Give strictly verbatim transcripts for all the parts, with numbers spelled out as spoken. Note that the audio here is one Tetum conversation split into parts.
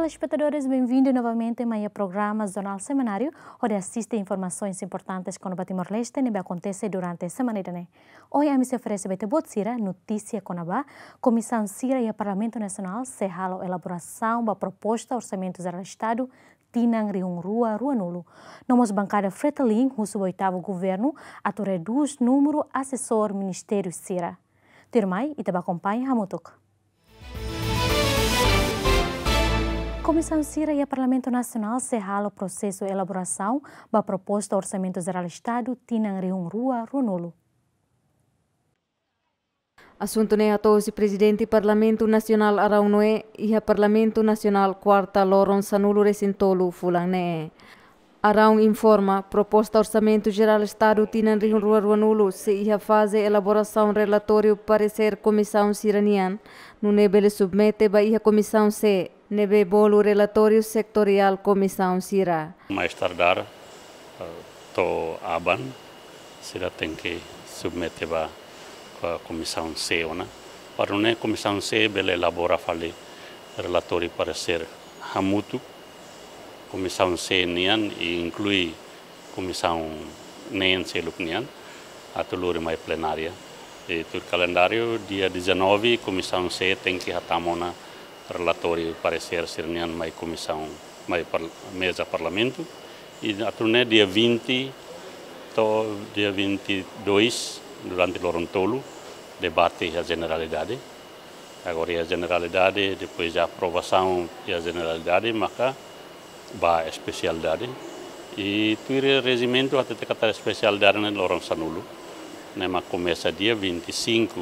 Telespetadores, benvindu novamente mai iha programa Jornál Semanáriu, hodi asiste informasoens importantes kona-ba Timor-Leste ne'ebé akontese durante semana ida-ne'e. Ohin ami sei oferese ba ita-boot sira notísia kona-ba Komisaun sira iha Parlamentu Nasionál sei halo elaborasaun ba proposta Orsamentu Jerál Estadu tinan rihun rua ruanulu. No mós bankada Fretilin husu ba oitavu governu atu redús númeru asesór ministériu sira. Tuirmai, ita bá akompaña hamutuk. Komisaun sira iha Parlamentu Nasionál sei halo prosesu elaborasaun ba proposta Orsamentu Jerál Estadu tinan rihun rua ruanulu. Asuntu ne'e hato'o husi Prezidente Parlamentu Nasionál Arão Noé iha Parlamentu Nasionál kuarta loron sanulu-resin-tolu fulan ne'e. Arão informa, proposta Orsamentu Jerál Estadu tinan rihun rua ruanulu sei iha faze elaborasaun relatóriu paresér komisaun sira-nian, nune'e bele submete ba iha Komisaun C, ne'ebé bolu relatóriu setoriál komisaun sira. Mais tardar, eh, to'o aban, sira tenke submete ba, ba Komisaun C ona. Para nune'e Komisaun C bele elabora fali relatóriu paresér hamutuk Komisaun C nian, i inklui komisaun neen seluk nian, atu lori mai plenária. I tuir kalendáriu, dia dezanove, Komisaun C tenke hatama ona relatóriu paresér sira-nian mai komisaun, mai par-, meza Parlamentu. I atu nune'e dia vinte to'o dia vinte e dois, durante loron tolu, debate iha jeneralidade. Agora iha jeneralidade, depois de aprovasaun iha jeneralidade, maka ba espesialidade. I tuir rejimentu hatete katak espesialidade ne'e loron sanulu. Ne'e mak komesa dia vinte e cinco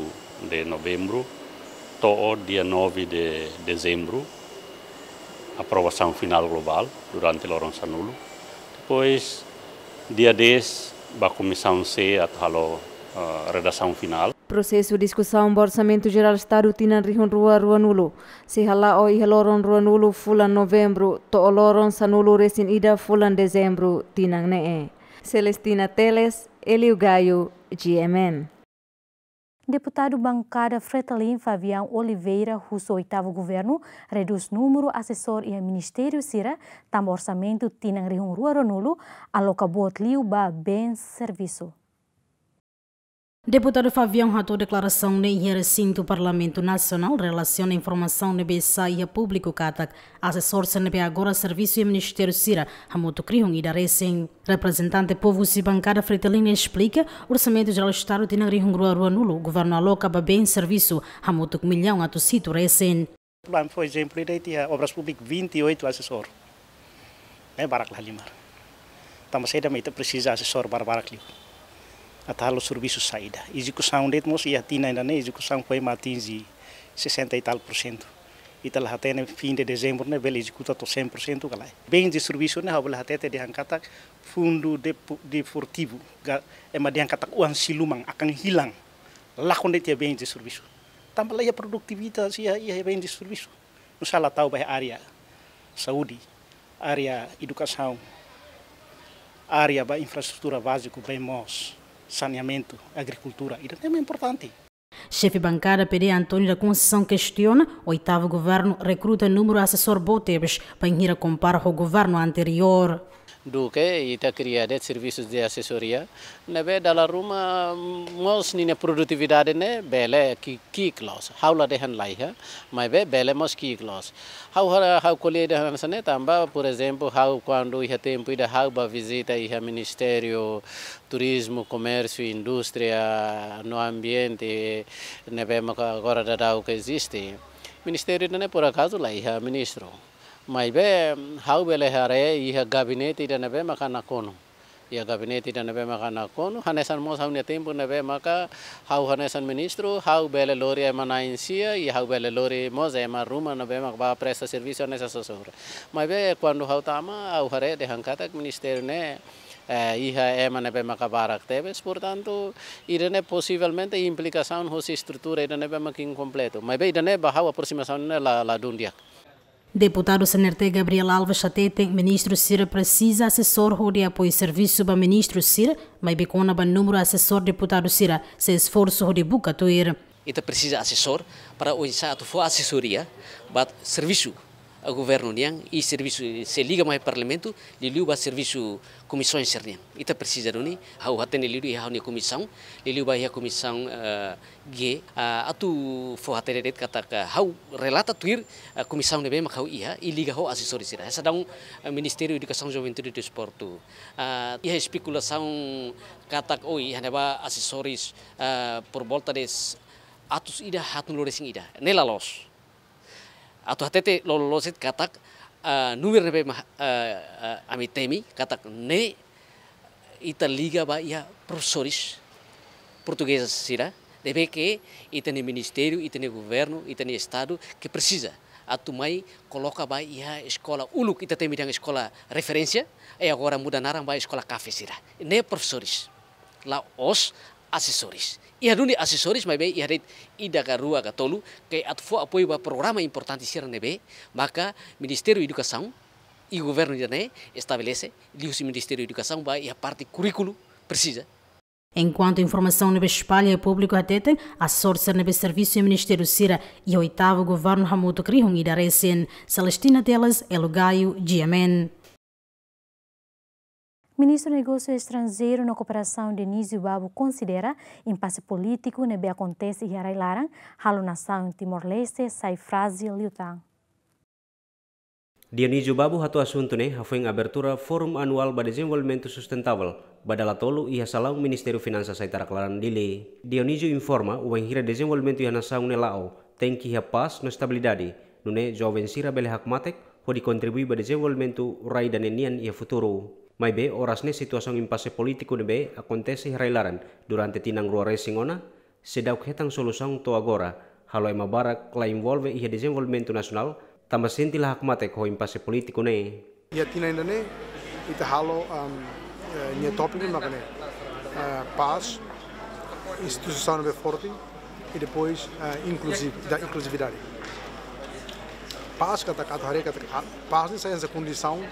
de novembro to'o dia nove de dezembro. Aprovasaun finál globál durante loron sanulu. Depois, dia dez, ba Komisaun C atu halo, eh, redasaun finál. Prosesu diskusaun ba Orsamentu Jerál Estadu tinan rihun rua ruanulu sei hala'o iha loron ruanulu fulan Novembru to'o loron sanulu-resin-ida fulan Dezembru tinan ne'e. Celestina Teles, Elio Gaio, G M N. Deputadu bankada Fretilin Fabião Oliveira husu oitavu governu redús númeru asesór iha ministériu sira, tanba orsamentu tinan rihun rua ruanulu aloka boot liu ba bens servisu. Deputadu Fabião hato'o deklarasaun ne'e iha resintu Parlamentu Nasionál relasiona informasaun ne'ebé sai iha públiku katak asesór sira ne'ebé agora servisu iha ministériu sira hamutuk rihun ida resin. Reprezentante povu husi bankada Fretilin esplika, Orsamentu Jerál Estadu tinan rihun rua ruanulu, governu aloka ba bens servisu hamutuk millaun atus hitu resin. Plan, por ezemplu, ida iha Obras Públikas vinte e oito asesór. Ne'e barak la halimar. Tanba saida mak ita presiza asesór barak-barak liu? Atu halo servisu saida? Ezekusaun de'it mós iha tinan ida-ne'e, ezekusaun foin mak atinje sessenta e tal por cento. Ita la hatene fim de dezembro ne'e bele ezekuta to'o cem por cento ka lae. Bens de servisu ne'e ha'u bele hatete dehan katak fundu depo-, desportivu, ga-, ema dehan katak oan siluman akan hilang. Lakon de'it iha bens de servisu. Tanba la iha produtivitas iha, iha bens de servisu. Nusá la tau ba iha área saúde, área edukasaun, área ba infraestrutura báziku, bem moos, saneamentu, agrikultura. Ida-ne'e importante. Xefe bankada P D António da Conceição kestiona, oitavu governu rekruta númeru asesór boot tebes, bainhira kompara ho governu anteriór. Duké ita kria de'it servisu de asesoria, ne'ebé dala ruma mós ninia produtividade ne'e bele ki-, ki'ik loos. Ha'u la dehan laiha, maibé bele mós ki'ik loos. Ha'u hara-, ha'u ko'alia ida hanesan ne'e tanba, por ezemplu, ha'u kuandu iha tempu ida ha'u bá vizita iha Ministériu Turizmu, Komérsiu, Indústria no Ambiente, ne'ebé maka agora daudaun ke eziste. Ministériu ida-ne'e por akazu la iha ministru. Maibé, ha'u bele haree iha gabinete ida ne'ebé maka nakonu. Iha gabinete ida ne'ebé maka nakonu, hanesan mós ha'u-nia tempu ne'ebé maka ha'u hanesan ministru, ha'u bele lori ema na'in-sia, i ha'u bele lori mós ema ruma ne'ebé maka bá presta servisu hanesan asesór. Maibé, kuandu ha'u tama, ha'u haree dehan katak ministériu ne'e, eh, iha ema ne'ebé maka barak tebes, portantu, ida-ne'e posivelmente implikasaun hosi estrutura ida ne'ebé maka inkompletu. Maibé, ida-ne'e ba ha'u aprosimasaun ne'e la, ladún di'ak. Deputadu C N R T Gabriel Alves hateten, ministru sira presiza asesór hodi apoiu servisu ba ministru sira, maibé kona-ba númeru asesór deputadu sira sei esforsu hodi buka tuir. Ita presiza asesór para oinsá atu fó asesoria ba servisu governu nian, i servisu sei liga mai Parlamentu, liuliu ba servisu komisaun sira-nian. Ita presiza duni, ha'u hatene liuliu iha ha'u-nia komisaun, liuliu ba iha komisaun, eh, G, ah, atu fó hatene de'it katak ha'u relata tuir, eh, komisaun ne'ebé mak ha'u iha, i liga ho asesór sira. Hanesan, eh, Ministériu Edukasaun, Juventude i Desportu. Ah, iha espekulasaun katak, oh, iha ne'ebá asesór, eh, por volta de atus ida, haatnulu-resin-ida. Ne'e la loos. Atu hatete loloos de'it katak, ah, númeru ne'ebé mak, ah, ah, ami temi katak ne'e ita liga ba iha profesores portugés sira, ne'ebé ke ita-nia ministériu, ita-nia governu, ita-nia estadu ke presiza atu mai koloka ba iha eskola uluk, ita temi dehan eskola referénsia, i agora muda naran ba eskola kafe sira. Ne'e profesores, la'ós asesór. Iha duni asesór, maibé iha de'it ida ka rua ka tolu, ke atu fó apoiu ba programa importante sira ne'ebé maka Ministériu Edukasaun i governu ida-ne'e estabelese, liuhusi Ministériu Edukasaun ba iha parte kurríkulu presiza. Enkuantu informasaun ne'ebé espalla iha públiku hatete, asesór sira ne'ebé servisu iha ministériu sira iha oitavu governu hamutuk rihun ida resin. Celestina Teles, Elo Gaio, G M N. Ministru Negósiu Estranjeiru no Kooperasaun Dionísio Babo konsidera impase polítiku ne'ebé akontese iha rai-laran halo nasaun Timor-Leste sai frájil liután. Dionísio Babo hato'o asuntu ne'e hafoin abertura Fórum Anuál ba Dezenvolvimentu Sustentavel ba dala tolu iha salaun Ministériu Finansas Aitarak Laran, Dili. Dionísio informa, wainhira dezenvolvimentu iha nasaun ne'e la'o, tenke iha pás no estabilidade, nune'e joven sira bele hakmatek hodi kontribui ba dezenvolvimentu rai ida-ne'e nian iha futuru. Maibé oras ne'e situasaun impase polítiku ne'ebé akontese iha rai-laran durante tinan rua resin ona, seidauk hetan solusaun to'o agora, halo ema barak la envolve iha dezenvolvimentu nasionál, tanba sente la hakmatek ho impase polítiku ne'e. Iha tinan ida-ne'e, ita halo, am, eh, nia tópiku maka ne'e, eh, pás, instituisaun ne'ebé forte, i depois, eh, inkluziv-, da inkluzividade. Pás katak atu haree katak, ah, pás ne'e sai hanesan kondisaun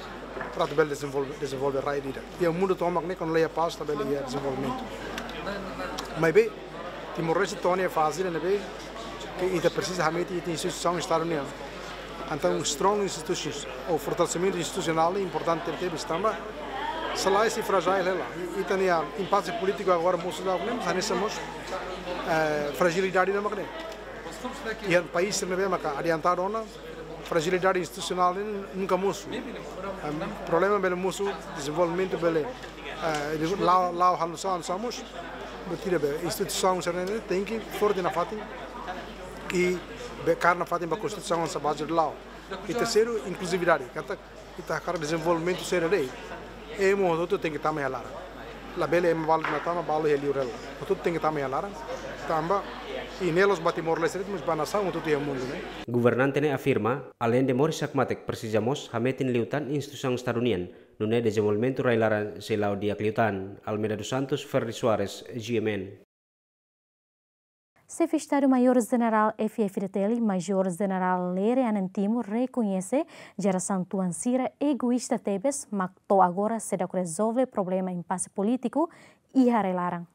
para atu bele dezenvolve, dezenvolve rai ida. Iha mundu tomak ne'e, kuandu la iha pás, la bele iha dezenvolvimentu. Maibé, Timor-Leste to'o ona iha faze ne'ebé ke ita presiza hametin ita-nia instituisaun Estadu nian. Entaun, strong institutions, ou fortalesimentu institusionál ne'e importante tebes tanba, se lae sei frájil hela. I, ita-nia impase polítiku agora mosu daudaun ne'e, mas hanesan mós, eh, frajilidade ida mak ne'e. Iha país ne'ebé maka adiantadu ona, frajilidade institusionál ne'e nunka mosu. Em, problema bele mosu, dezenvolvimentu bele, eh, la'o, la'o hanusa, hanusa mós. Buat ida be, instituisaun sira-ne'e tenke forte nafatin, i be kaer nafatin ba konstituisaun hanesan baze la'o. I terseiru, inkluzividade. Katak ita hakarak dezenvolvimentu sira de'it, ema hotu-hotu tenke tama iha laran. La bele ema balu de'it mak tama, balu iha li'ur hela. Hotu-hotu tenke tama iha laran. Tanba, i ne'e la'ós ba Timor-Leste de'it, mas ba nasaun hotu-hotu iha mundu ne'e. Governante ne'e afirma, aleinde moris hakmatek presiza mós hametin liután instituisaun Estadu nian, nune'e dezenvolvimentu rai-laran sei la'o di'ak liután. Almeida dos Santos, Ferdi Soares, G M N. Xefe Estadu Maiór Jenerál F-FDTL, Major Jenerál Lere Anan Timur, rekoñese jerasaun tuan sira egoísta tebes, mak to'o agora seidauk rezolve problema impase polítiku iha rai-laran.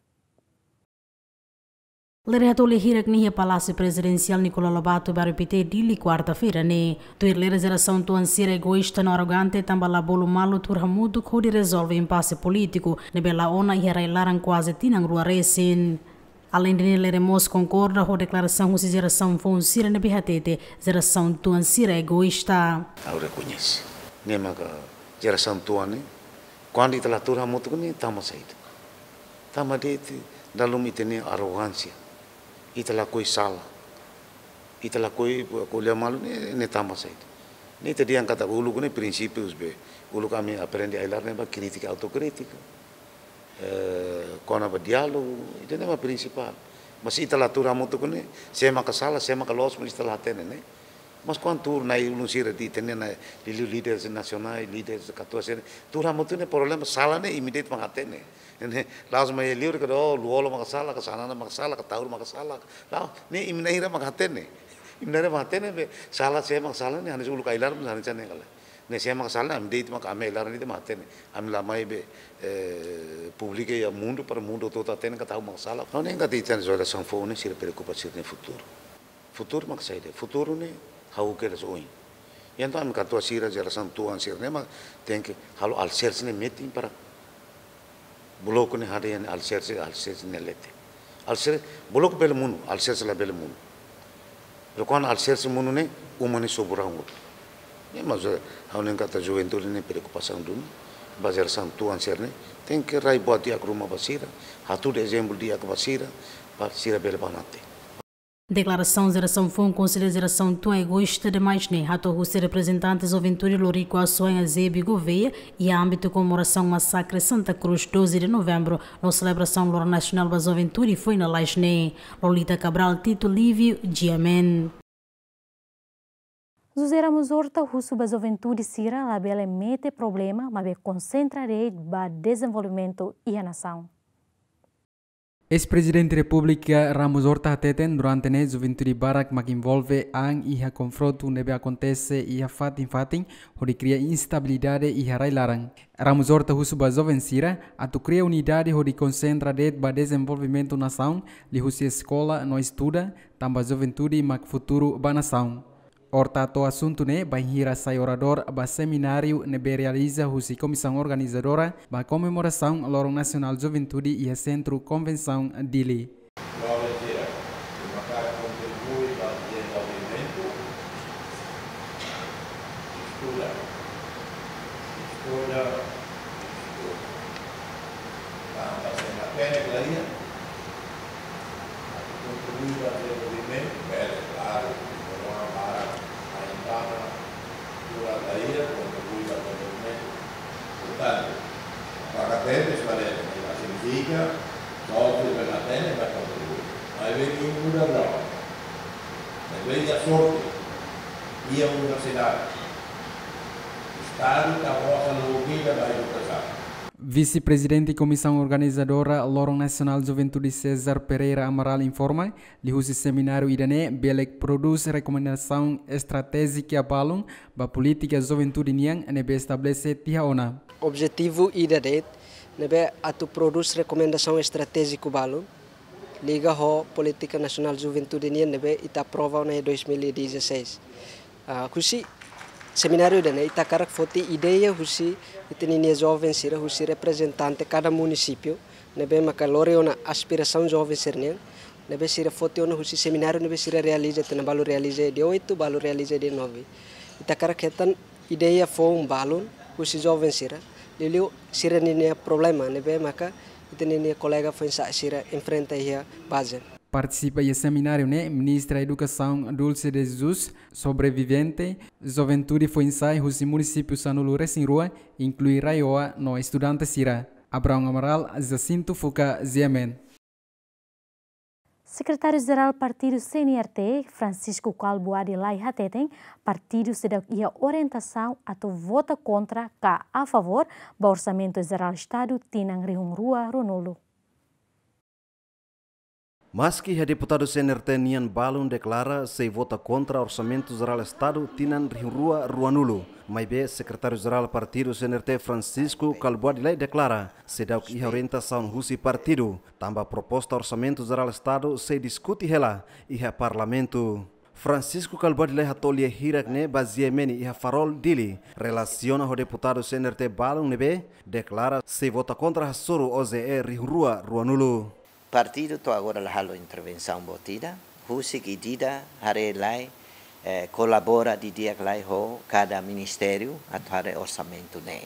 Lere hato'o lia hirak ne'e iha Palásiu Prezidensiál Nicolau Lobato, Bairru Pité, Dili, kuarta-feira ne'e. Tuir Lere, jerasaun tuan sira egoísta no arrogante, tanba la bolu malu tuur hamutuk hodi rezolve impase polítiku ne'ebé la'o ona iha rai-laran kuaze tinan rua resin. Aleinde ne'e, Lere mós konkorda ho deklarasaun husi jerasaun foun sira ne'ebé hatete jerasaun tuan sira egoísta. Ha'u rekoñese. Ne'e maka jerasaun tuan ne'e, kuandu ita la tuur hamutuk ne'e tanba saida? Tanba de'it, dala ruma ita-nia arrogánsia. Ita lakohi sala. Ita lakohi ko'alia malu ne'e, ne'e tanba saida? Ne'e ita dehan katak uluk ne'e prinsípius be. Uluk ami aprende ai-laran ne'e ba krítika autokrítika. Eh, kona-ba diálogu, ida-ne'e mak prinsipál. Mas ita la tuur hamutuk ne'e, sé maka sala, sé maka loos, mas ita la hatene ne'e. Mas kuandu tuur nai ulun sira de'it, hatene nai, liuliu líderes nasionais, líderes katuas sira, tuur hamutuk ne'e problema sala ne'e imi de'it mak hatene. Ne'e, la'ós mai liur ka do, Lú-Olo maka sala, ka Xanana maka sala, ka Taur maka sala. La'ós, ne'e imi na'in hira mak hatene. Imi na'in hira mak hatene be, sala sé maka sala ne'e, hanesan uluk ai-laran, hanesan ne'e kala. Ne'e sé maka sala, ami de'it maka ami ai-laran de'it mak hatene. Ami la mai be, eh, publika iha mundu para mundu hotu-hotu hatene katak ha'u maka sala. Ha'u hanoin katak ita-nia jerasaun foun ne'e sira preokupa sira-nia futuru. Futuru maka saida? Futuru ne'e ha'u kedas oin. Entaun ami katuas sira, jerasaun tuan sira ne'e mak tenke halo aliserse ne'e metin para bloku ne'e haree ninia aliserse, aliserse ne'e leten. Aliserse, bloku bele monu, aliserse labele monu. Loron aliserse monu ne'e, uma ne'e sobu rahun hotu. Ne'e mak, eh, ha'u hanoin katak juventude ne'e preokupasaun duni, ba jerasaun tuan sira ne'e, tenke rai buat di'ak ruma ba sira, hatudu ezemplu di'ak ba sira, para sira bele banati. Deklarasaun jerasaun foun konsidera jerasaun tuan egoísta demais ne'e hato'o husi reprezentante juventude Lorico Assuanha Zebi Gouveia iha ámbitu komemorasaun masakre Santa Cruz, doze de novembro, no selebrasaun Loron Nasionál ba Juventude foin lalais ne'e. Lolita Cabral, Tito Livio, G M N. José Ramos Horta husu ba juventude sira labele mete problema, maibé konsentra de'it ba dezenvolvimentu iha nasaun. Eis-Prezidente Repúblika Ramos Horta hateten durante ne'e juventude barak mak envolve an iha konfrontu ne'ebé akontese iha fatin-fatin hodi kria instabilidade iha rai-laran. Ramos Horta husu ba joven sira atu kria unidade hodi konsentra de'it ba dezenvolvimentu nasaun, liuhusi eskola no estuda, tanba juventude mak futuru ba nasaun. Horta hato'o asuntu ne'e bainhira sai oradór ba semináriu ne'ebé realiza husi komisaun organizadora ba komemorasaun Loron Nasionál Juventude iha Sentru Konvensaun Dili. Joven sira, atu kontribui ba dezenvolvimentu, estuda, estuda, estuda. Tanba se matenek la iha, atu kontribui ba dezenvolvimentu, bele, klaru, problema barak, ainda, dura la iha, kontribui ba dezenvolvimentu. Portantu, para atende, para atende, signifika, só se bele atende, bele kontribui. Maibé, nia muda agora. Maibé, iha sorte, iha universidade. Estadu ita-boot sala obriga ba edukasaun. Vise-Prezidente Komisaun Organizadora Loron Nasionál Juventude César Pereira Amaral informa, liuhusi semináriu ida-ne'e, belek prodús rekomendasaun estratéjika balun ba polítika juventude nian ne'ebé estabelese tiha ona. Objetivu ida de'it ne'ebé atu prodús rekomendasaun estratéjiku balun liga ho polítika nasionál juventude nian ne'ebé ita aprova ona iha dois mil e dezasseis. Ah, husi semináriu ida-ne'e ita hakarak foti ideia husi ita-nia joven sira, husi reprezentante kada munisípiu ne'ebé maka lori ona aspirasaun joven sira-nian, ne'ebé sira foti ona husi semináriu ne'ebé sira realiza, tinan balu realiza dia oito, balu realiza dia nove. Ita hakarak hetan ideia foun balun husi joven sira, liuliu sira-ninia problema ne'ebé maka ita-nia kolega foin-sa'e sira enfrenta iha baze. Partisipa iha semináriu ne'e Ministra Edukasaun Dulce de Jesus, sobrevivente, juventude foin-sa'e husi munisípiu sanulu-resin-rua, inklui RAEOA no estudante sira. Abraão Amaral, Jacinto Fuca, G M N. Sekretáriu Jerál Partidu C N R T, Francisco Calbuadi Lay hateten, partidu seidauk iha orientasaun atu vota kontra ka a favór ba Orsamentu Jerál Estadu tinan rihun rua ruanulu. Maski iha deputadu C N R T nian balun deklara sei vota kontra Orsamentu Jerál Estadu tinan rihun rua ruanulu, maibé Sekretáriu Jerál Partidu C N R T Francisco Calbuadi Lay deklara seidauk iha orientasaun husi partidu, tanba proposta Orsamentu Jerál Estadu sei diskute hela iha Parlamentu. Francisco Calbuadi Lay hato'o lia hirak ne'e ba G M N iha Farol Dili, relasiona ho deputadu C N R T balun ne'ebé deklara sei vota kontra hasoru O J E rihun rua ruanulu. Partidu to'o agora la halo intervensaun boot ida, husik ida-idak haree lai, eh, kolabora didi'ak lai ho kada ministériu atu haree orsamentu ne'e.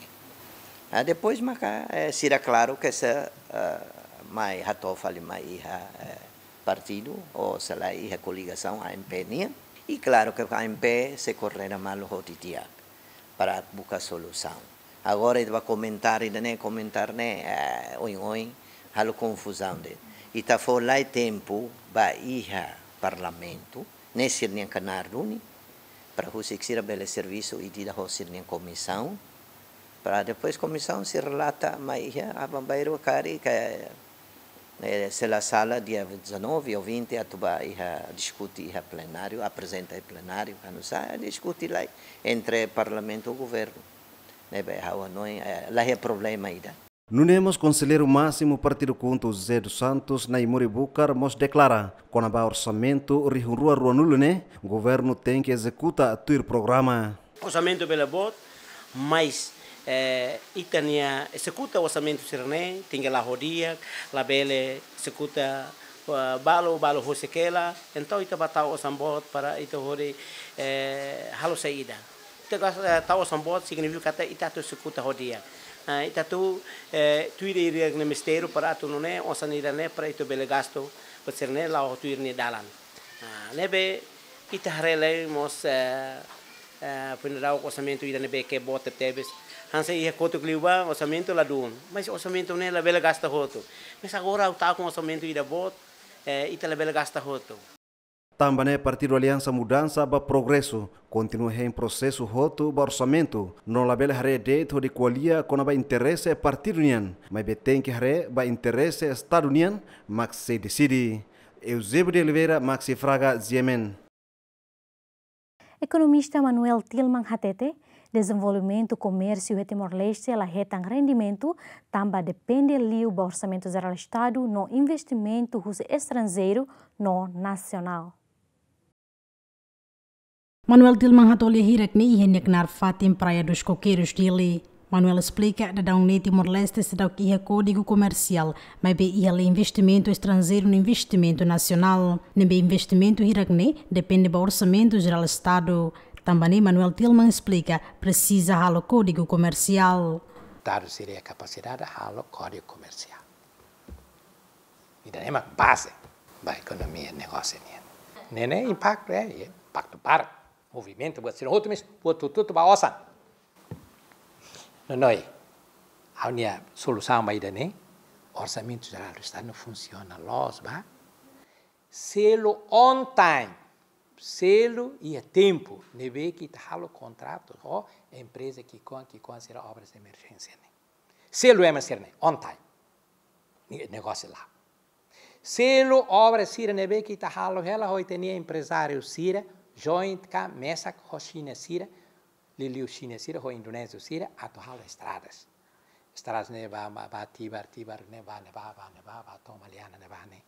Ah, depois maka, eh, sira klaru ke se, eh, mai hato'o fali mai iha, eh, partidu, ou sei la iha koligasaun A M P nian. I klaru ke A M P sei koordena malu ho didi'ak para buka solusaun. Agora ita ba komentáriu ida-ne'e, komentáriu ne'e, eh, oin-oin, halo konfuzaun de'it. Ita fó lai tempu ba iha Parlamentu, ne'e sira-nian knaar duni, para husik sira bele servisu ida-idak ho sira-nian komisaun, para depois komisaun sei relata mai iha aban-bainrua karik, eh, se la sala dia dezanove ou vinte atu ba iha diskute iha plenáriu, aprezenta iha plenáriu, kuandu sa'e diskute lai entre Parlamentu ho Governu. Ne'ebé ha'u hanoin, eh, la iha problema ida. Nune'e mós Konselleiru Másimu Partidu KHUNTO José dos Santos Naimori Bucar mós deklara, kona-ba orsamentu rihun rua ruanulu ne'e, Governu tenke ezekuta tuir programa. Orsamentu bele boot, mas, eh, ita-nia ezekuta orsamentu sira-ne'e tenke la'o ho di'ak, labele ezekuta, eh, balu, balu husik hela. Entaun ita bá tau osan boot para ita hodi, eh, halo saida. Ita gas-, eh, tau osan boot signifika katak ita atu ezekuta ho di'ak. Ah, ita atu, eh, tuir ida-idak nia mistériu para atu nune'e osan ida-ne'e para ita bele gastu, para sira-ne'e la'o tuir nia dalan. Ah, ne'ebé ita haree lai mós, eh, eh, foin daudauk orsamentu ida ne'ebé ke boot tebes. Hanesan iha kotuk liubá orsamentu ladún. Mas orsamentu ne'e labele gasta hotu. Mas agora ha'u tau ho orsamentu ida boot, eh, ita labele gasta hotu. Tanba ne'e Partidu Aliansa Mudansa ba Progresu kontinua hein prosesu hotu ba orsamentu, no labele haree de'it hodi ko'alia kona-ba interese partidu nian, maibé tenke haree ba interese Estadu nian, mak sei deside. Eusébio de Oliveira, Maxi Fraga, G M N. Ekonomista Manuel Tilman hatete, dezenvolvimentu komérsiu iha Timor-Leste la hetan rendimentu, tanba depende liu ba Orsamentu Jerál Estadu no investimentu husi estranjeiru no nasionál. Manuel Tilman hato'o lia hirak-ne'e iha nia knaar fatin Praia dos Coqueiros, Dili. Manuel esplika, daudaun ne'e Timor-Leste seidauk iha Kódigu Komersiál, maibé iha lai investimentu estranjeiru no investimentu nasionál. Ne'ebé investimentu hirak-ne'e depende ba Orsamentu Jerál Estadu. Tanba ne'e Manuel Tilman esplika, presiza halo Kódigu Komersiál. Estadu sira iha kapasidade halo Kódigu Komersiál. Ida-ne'e mak baze ba ekonomia negósiu nian. Ne'e ne'e impaktu, eh, impaktu barak. Movimentu buat sira hotu mós, buat hotu-hotu ba osan. Nonoi, ha'u-nia solusaun ba ida-ne'e, Orsamentu Jerál do Estadu no funsiona loos ba. Selu on time, selu iha tempu, ne'ebé ke ita halo kontratu ho empreza ki'ikoan, ki'ikoan sira obras emerjénsia ne'e. Selu ema sira-ne'e, on time. Ni-, negósiu la'o. Selu obra sira ne'ebé ke ita halo hela ho ita-nia emprezáriu sira, joint ka mesak ho Xina sira, liuliu Xina sira, ho Indonézia sira, atu halo estradas. Estradas ne'e ba, ba, ba Tibar, Tibar ne'e ba, ne'e ba, ba, ne'e ba, ba to'o Maliana ne'e ba ne'e.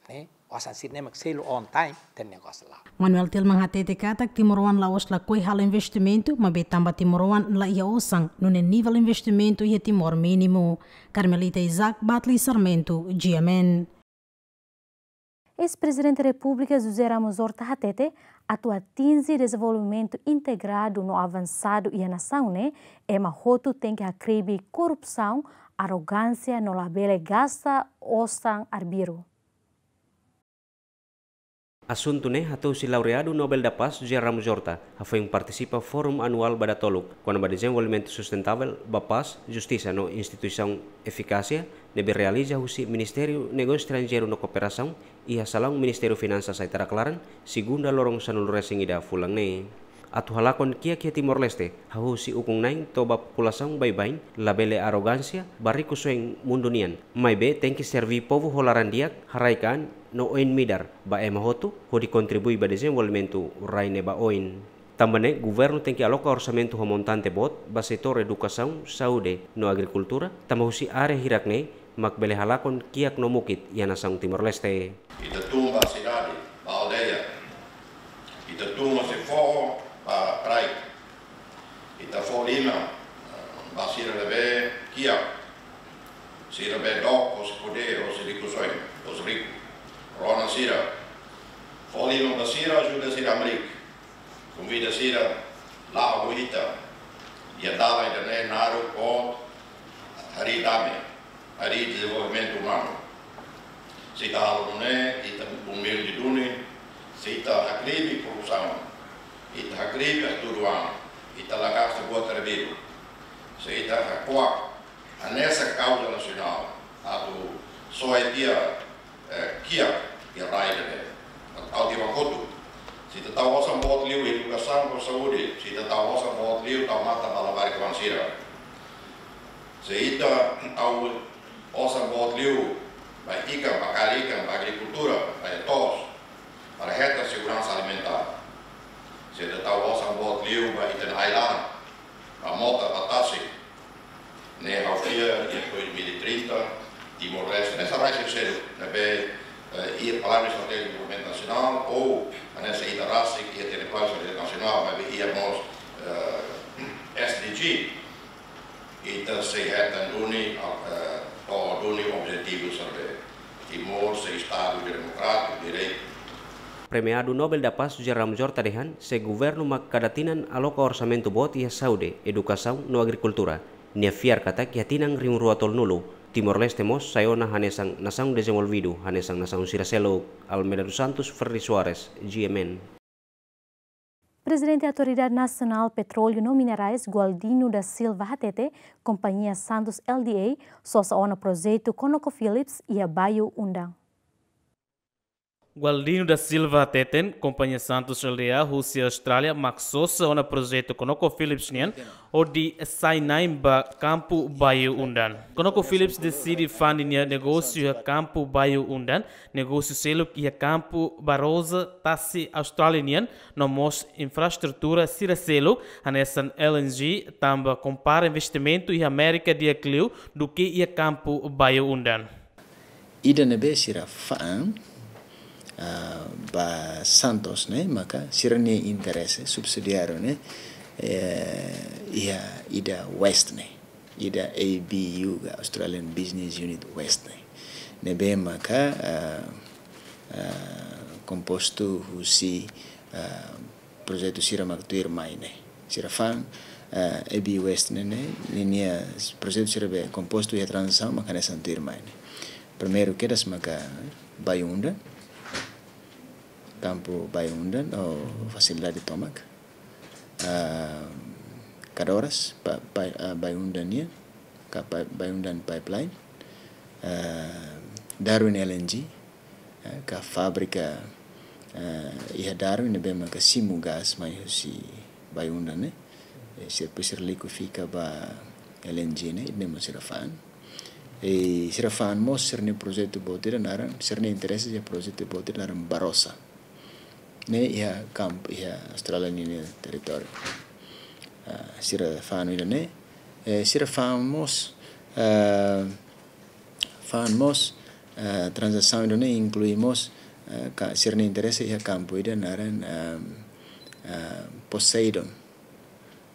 Ne'e, osan sira-ne'e mak selu on time, ita-nia negósiu la'o. Manuel Tilman hatete katak timoroan la'ós lakohi halo investimentu, maibé tanba timoroan la iha osan, nune'e nivel investimentu iha Timor mínimu. Carmelita Isaac, Batli Sarmento, G M N. Eis-Prezidente Repúblika José Ramos Horta hatete, atu atinje dezenvolvimentu integradu no avansadu iha nasaun ne'e, ema hotu tenke hakribi korrupsaun, arrogánsia no labele gasta osan arbiru. Asuntu ne'e hato'o husi laureadu Nobel da Paz José Ramos Horta, hafoin partisipa Fórum Anuál ba datoluk kona-ba dezenvolvimentu sustentável ba pás, justisa no instituisaun efikásia, ne'ebé realiza husi Ministériu Negósiu Estranjeiru no Kooperasaun iha salaun Ministériu Finansas Aitarak laran, segunda loron sanulu-resin-ida fulan ne'e. Atu halakon kiak iha Timor-Leste, hahú husi ukun-na'in to'o ba populasaun baibain, labele arrogánsia ba rikusoin mundu nian, maibé tenke serví povu ho laran di'ak, haraik-an no oin-midar ba ema hotu, hodi kontribui ba dezenvolvimentu rai ne'e ba oin. Tanba ne'e, governu tenke aloka orsamentu ho montante boot ba setór edukasaun, saúde no agrikultura, tanba husi área hirak-ne'e mak bele halakon kiak no mukit iha nasaun Timor-Leste. Ita tun ba sidade, ba aldeia. Ita tun husi foho ba rai. Ita fó liman, eh, ba sira ne'ebé kiak. Sira ne'ebé dook husi podér, husi rikusoin, husi riku. Rona sira. Fó liman ba sira, ajuda sira hamriik. Konvida sira, la'o ho ita. Iha dalan ida-ne'e naruk boot, harii dame, harii dezenvolvimentu umanu. Se ita halo nune'e, ita umilde duni, se ita hakribi korrupsaun, ita hakribi hatudu an, ita la gasta buat arbiru. Se ita hakuak hanesan kauza nasionál, atu soe tiha, eh, kiak iha rai ida-ne'e. Ha'u dehan ba kotuk. Se ita tau osan boot liu edukasaun ho saúde, se ita tau osan boot liu tau matan ba labarik-oan sira. Se ita tau osan boot liu ba ikan, ba kaer ikan, ba agrikultura, ba iha to'os, para hetan seguransa alimentár. Se ita tau osan boot liu ba ita-nia ai-laran, ba mota, ba tasi. Ne'e ha'u fiar iha dois mil e trinta, Timor-Leste, hanesan rai seluk-seluk, ne'ebé, eh, iha Planu Estratéjiku Dezenvolvimentu Nasionál, ou hanesan ita rasik iha Planu Estratéjiku Nasionál, maibé iha mós, eh, Sei hetan duni, eh, to'o duni objetivu sira-ne'e. Timor sei Estadu Demokrátiku, Direitu. Premiadu Nobel da Paz José Ramos Horta dehan, se governu mak kada tinan aloka orsamentu boot iha saúde, edukasaun no agrikultura. Nia fiar katak iha tinan rihun rua tolunulu, Timor-Leste mós sai ona hanesan nasaun dezenvolvidu, hanesan nasaun sira seluk. Almeida dos Santos, Ferdi Soares, G M N. Prezidente Autoridade Nasionál Petróleu no Minerais, Gualdino da Silva hatete, kompañia Santos L D A sosa ona projetu ConocoPhillips iha Bayu-Undan. Gualdino da Silva hateten, kompañia Santos L D A husi Austrália mak sosa ona projetu ConocoPhillips nian, hodi sai na'in ba kampu Bayu-Undan. ConocoPhillips deside fa'an ninia negósiu iha kampu Bayu-Undan, negósiu seluk iha kampu Barossa, tasi Austrália nian, no mós infraestrutura sira seluk, hanesan L N G, tanba kompara investimentu iha Amérika di'ak liu duké iha kampu Bayu-Undan. Ida ne'ebé sira fa'an, ah, ba Santos ne'e, maka sira-nia interese subsidiáriu ne'e, eh, iha ida West ne'e, ida A B U ka, Australian Business Unit West ne'e. Ne'ebé maka, ah, ah, kompostu husi, ah, projetu sira mak tuirmai ne'e. Sira fa'an, eh, A B West ne'e, ne'e, ninia projetu sira be kompostu iha tranzasaun maka hanesan tuirmai ne'e. Primeiru kedas maka Bayu-Undan, kampu Bayu-Undan, ou fasilidade tomak. Ah, Kadoras, pa, pa, ah, Bayu-Undan nian, ka pa, Bayu-Undan pipeline. Ah, Darwin L N G, eh, ka fábrika, eh, iha Darwin ne'ebé maka simu gás mai husi Bayu-Undan ne'e. Eh, sira depois sira likuifika ba L N G ne'e, ne'e mós sira fa'an. I sira fa'an mós sira-nia projetu boot ida naran, sira-nia interese iha projetu boot ida naran Barossa. Ne'e iha kampu, iha Austrália ninia territóriu. Ah, sira fa'an ida ne'e, eh, sira fa'an mós, ah, fa'an mós, eh, tranzasaun ida ne'e inklui mós, eh, ka, sira-nia interese iha kampu ida naran, ehm, eh, Poseidon.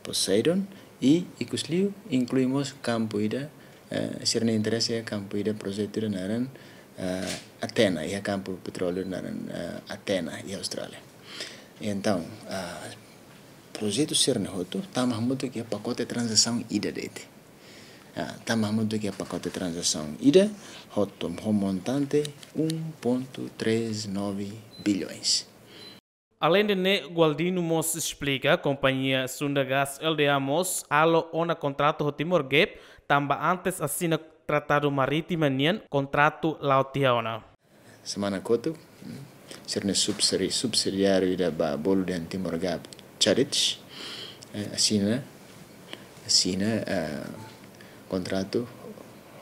Poseidon, i ikus liu inklui mós kampu ida, eh, sira-nia interese iha kampu ida projetu ida naran, eh, Atena, iha kampu petróleu naran, eh, Atena, iha Austrália. Entaun, ah, projetu sira-ne'e hotu tama hamutuk iha pakote tranzasaun ida de'it. Ah, tama hamutuk iha pakote tranzasaun ida hotu ho montante um ponto três nove bilhões. Aleinde ne'e, Gualdino mós esplika, kompañia Sunda Gas L D A mós halo ona kontratu ho Timor Gap, tanba antes asina tratadu marítima nian, kontratu la'o tiha ona. Semana kotuk, sira-nia subsidi-, subsidiáriu ida ba bolu dehan Timor Gap, Chadich, eh, asina, asina, eh, kontratu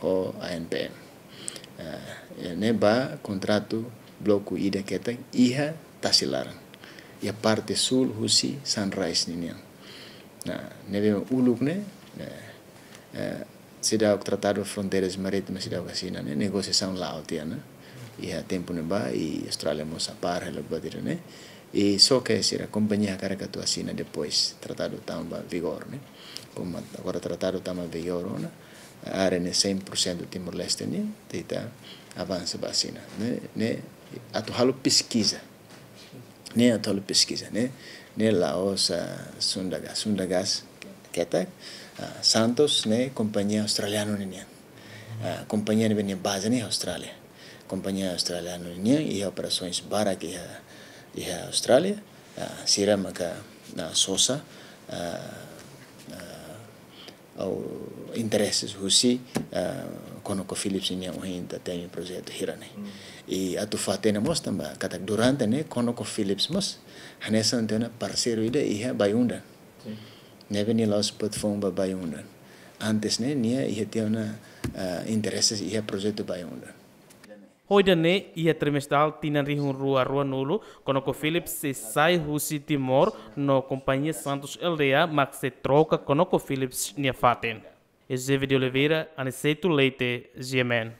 ho A N P M. Eh, ne'e ba kontratu bloku ida ketak iha tasi laran. Iha parte súl husi Sunrise ninian. Nah, ne'ebé uluk ne'e, eh, eh, seidauk tratadu fronteiras marítimas seidauk asina ne'e, negosiasaun la'o tiha ona. Iha tempu ne'ebá, i Austrália mós apár hela buat ida ne'e. I só ke sira kompañia hakarak atu asina depois tratadu tama ba vigór ne'e. Komu agora tratadu tama vigór ona, área ne'e cem por cento Timor-Leste nian, ita avansa ba asina. Ne'e, ne'e atu halo peskiza. Ne'e atu halo peskiza, ne'e, ne'e la'ós, ah, Sunda Gas. Sunda Gas ketak, ah, Santos ne'e kompañia australianu ninian. Ah, kompañia ne'ebé nia baze ne'e Austrália. Kompañia australianu ninian iha operasoens barak iha, iha Austrália. Ah, sira maka, ah, sosa, ah, ah, ou interese husi, ah, ConocoPhillips nian ohin ita temi projetu hira ne'e. I atu fó-hatene mós tanba katak durante ne'e ConocoPhillips mós hanesan tiha ona parseiru ida iha Bayu-Undan. Ne'ebé nia la'ós buat foun ba Bayu-Undan. Antes ne'e nia iha tiha ona, ah, interese iha projetu Bayu-Undan. Ho ida-ne'e, iha trimestral tinan rihun rua ruanulu, ConocoPhillips sei sai husi Timor no kompañia Santos L D A mak sei troka ConocoPhillips nia fatin. Eusébio de Oliveira, Aniceto Leite, G M N.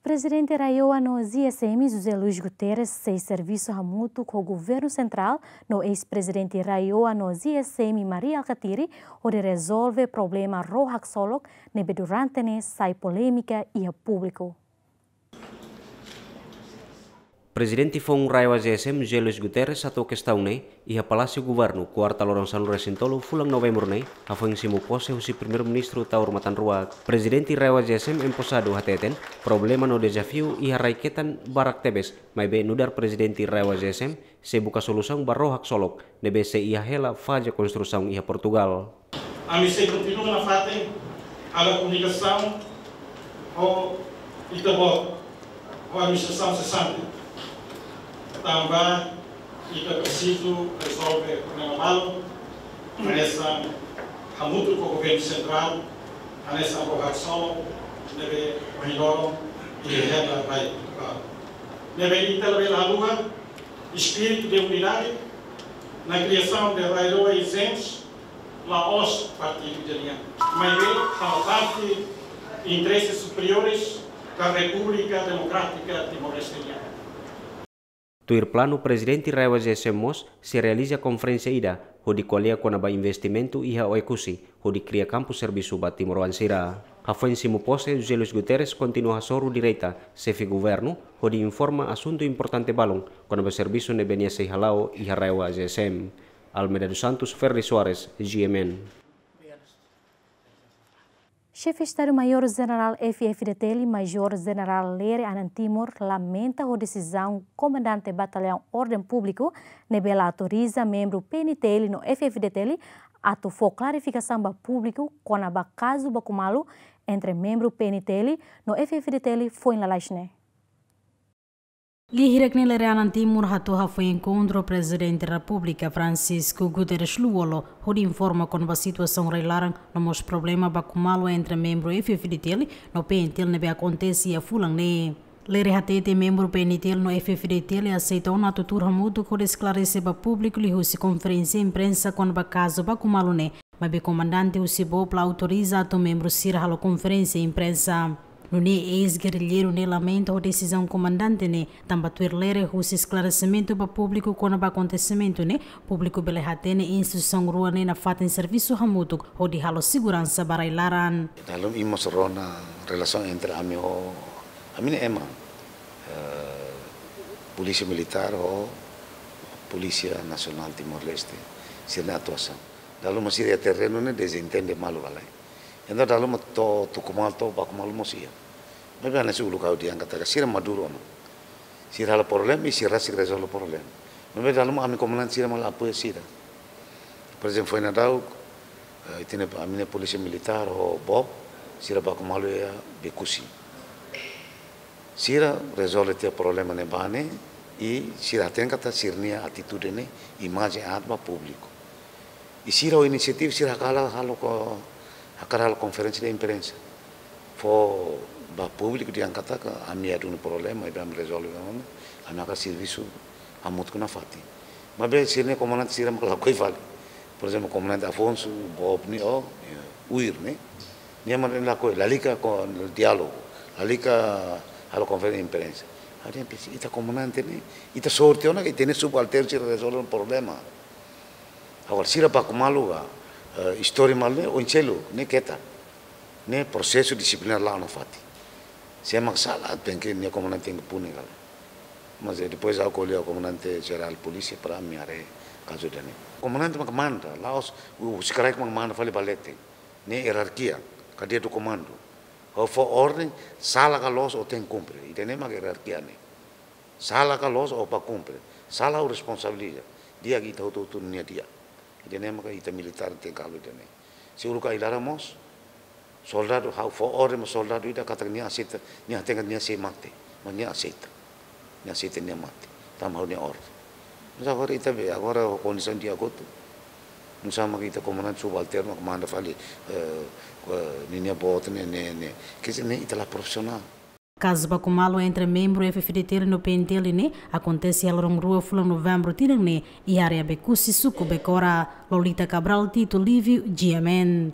Prezidente RAEOA no GSM José Luís Guterres sei servisu hamutuk ho Governu Sentrál no eis-prezidente RAEOA no GSM Mari Alkatiri hodi rezolve problema ró haksolok ne'ebé durante ne'e sai polémika iha públiku. Prezidente foun RAEOA GSM José Luís Guterres hato'o kestaun ne'e iha Palásiu Governu, kuarta loron sanulu-resin-tolu fulan Novembru ne'e, hafoin simu pose husi Primeiru-Ministru Taur Matan Ruak. Prezidente RAEOA GSM emposadu hateten, problema no dezafiu iha rai-ketan barak tebes, maibé nu'udar prezidente RAEOA GSM sei buka solusaun ba ró haksolok ne'ebé sei iha hela faze konstrusaun iha Portugal. Ami sei kontinua nafatin halo komunikasaun ho ita-boot, ho administrasaun sesante. Tanba ita presiza rezolve problema balu, hanesan hamutuk ho Governu Sentrál, hanesan ró haksolok ne'ebé ohin loron iha hela rai Portugal. Ne'ebé ita labele haluha espíritu de unidade na criação de RAEOA e GSM, la'ós partidu nian, maibé faz parte interesses superiores da República Democrática Timor-Leste nian. Tuir planu, prezidente RAEOA GSM mós sei realiza konferénsia ida hodi ko'alia kona-ba investimentu iha Oekusi, hodi kria kampu servisu ba timoroan sira. Hafoin simu pose, José Luís Guterres kontinua hasoru direta Xefe Governu hodi informa asuntu importante balun kona-ba servisu ne'ebé nia sei hala'o iha RAEOA GSM. Almeida dos Santos, Ferdi Soares, GMN. Xefe Estadu-Maiór Jenerál F-FDTL, Majór Jenerál Lere Anan Timur, lamenta ho desizaun Komandante Batallaun Orden Públiku ne'ebé la autoriza membru PNTL no F-FDTL atu fó klarifikasaun ba públiku kona-ba kazu baku malu entre membru PNTL no F-FDTL foin lalais ne'e. Lia hirak ne'e Lere Anan Timur hato'o hafoin enkontru ho Prezidente Repúblika Francisco Guterres Lú-Olo hodi informa kona-ba situasaun rai-laran no mós problema baku malu entre membru F-FDTL no PNTL ne'ebé akontese iha fulan ne'e. Lere hateten membru PNTL no F-FDTL aseita ona atu tuur hamutuk hodi esklarese ba públiku liuhusi konferénsia imprensa kona-ba kazu baku malu ne'e, maibé komandante husi BOP la autoriza atu membru sira halo konferénsia imprensa. Nune'e eis-gerrilleiru ne'e lamenta ho desizaun komandante ne'e, tanba tuir Lere husi esklaresimentu ba públiku kona-ba akontesimentu ne'e, públiku bele hatene instituisaun rua ne'e nafatin servisu hamutuk hodi halo seguransa ba rai-laran. Dala ruma imi mós rona relasaun entre ami ho, ami-nia ema, eh, Polísia Militár ho Polísia Nasionál Timor-Leste, sira-nia atuasaun. Dala ruma sira iha terrenu ne'e dezentende malu ka lae. Entaun dala ruma to'o tuku malu, to'o baku malu mós iha. Maibé hanesan uluk ha'u dehan katak sira maduru ona. Sira halo problema i sira sei rezolve problema. Maibé dala ruma ami komandante sira mak la apoia sira. Por ezemplu, foin daudaun, eh, ita-nia, ami-nia Polísia Militár ho BOP, sira baku malu iha Bekusi. Sira rezolve tiha problema ne'ebá ne'e, i sira hateten katak sira-nia atitude ne'e imajen aat ba públiku. I sira ho inisiativa, sira hakarak halo ko-, hakarak halo konferénsia de imprensa. Fó ba públiku dehan katak ami iha duni problema, i ami rezolve problema, ami hakarak servisu hamutuk nafatin. Maibé sira-nia komandante sira mak lakohi fali. Por ezemplu, komandante Afonso, BOP nia, oh, eh, UIR ne'e. Nia mak lakohi, lalika ko diálogu, lalika halo konferénsia imprensa. Ha'u dehan, ita komandante ne'e, ita sorte ona, ita-nia subalternu sira rezolve problema. Agora, sira baku malu ka, eh, istori malu ne'e, oin seluk, ne'e keta. Ne'e prosesu disiplinár la'o nafatin. Sé mak sala, tenke, nia komandante tenke puni ka lae. Mas, eh, depois ha'u ko'alia ho komandante jerál polísia para ami haree kazu ida-ne'e. Komandante mak manda, la'ós, u, husi kraik mak manda fali ba leten. Ne'e ierarkia, cadeia do comando. Ha'u fó orden, sala ka loos ó tenke kumpre. Ida-ne'e mak ierarkia ne'e. Sala ka loos ó bá kumpre. Sala ha'u responsabiliza. Di'ak ita hotu-hotu nia di'ak. Ida-ne'e maka ita militár tenke halo ida-ne'e. Se uluk ai-laran mós, soldadu ha'u fó orden ba soldadu ida katak nia aseita, nia hateten nia sei mate. Mas nia aseita. Nia aseita nia mate. Tanba ha'u-nia orden. Mas agora ita be, agora kondisaun di'ak hotu. Nusá mak ita komandante subalternu mak manda fali, eh, eh, ninia boot ne'e, ne'e, ne'e. Quer dizer, ne'e ita la profisionál. Kazu baku malu entre membru F-FDTL no PNTL ne'e akontese iha loron rua fulan Novembru tinan ne'e iha área Bekusi, suku Becora. Lolita Cabral, Tito Livio, GMN.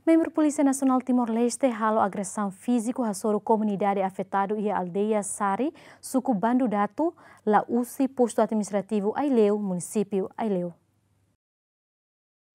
Membru Polísia Nasionál Timor-Leste halo agresaun fíziku hasoru komunidade afetadu iha aldeia Sari, suku Bandu Datu, Lausi, postu administrativu Aileu, munisípiu Aileu.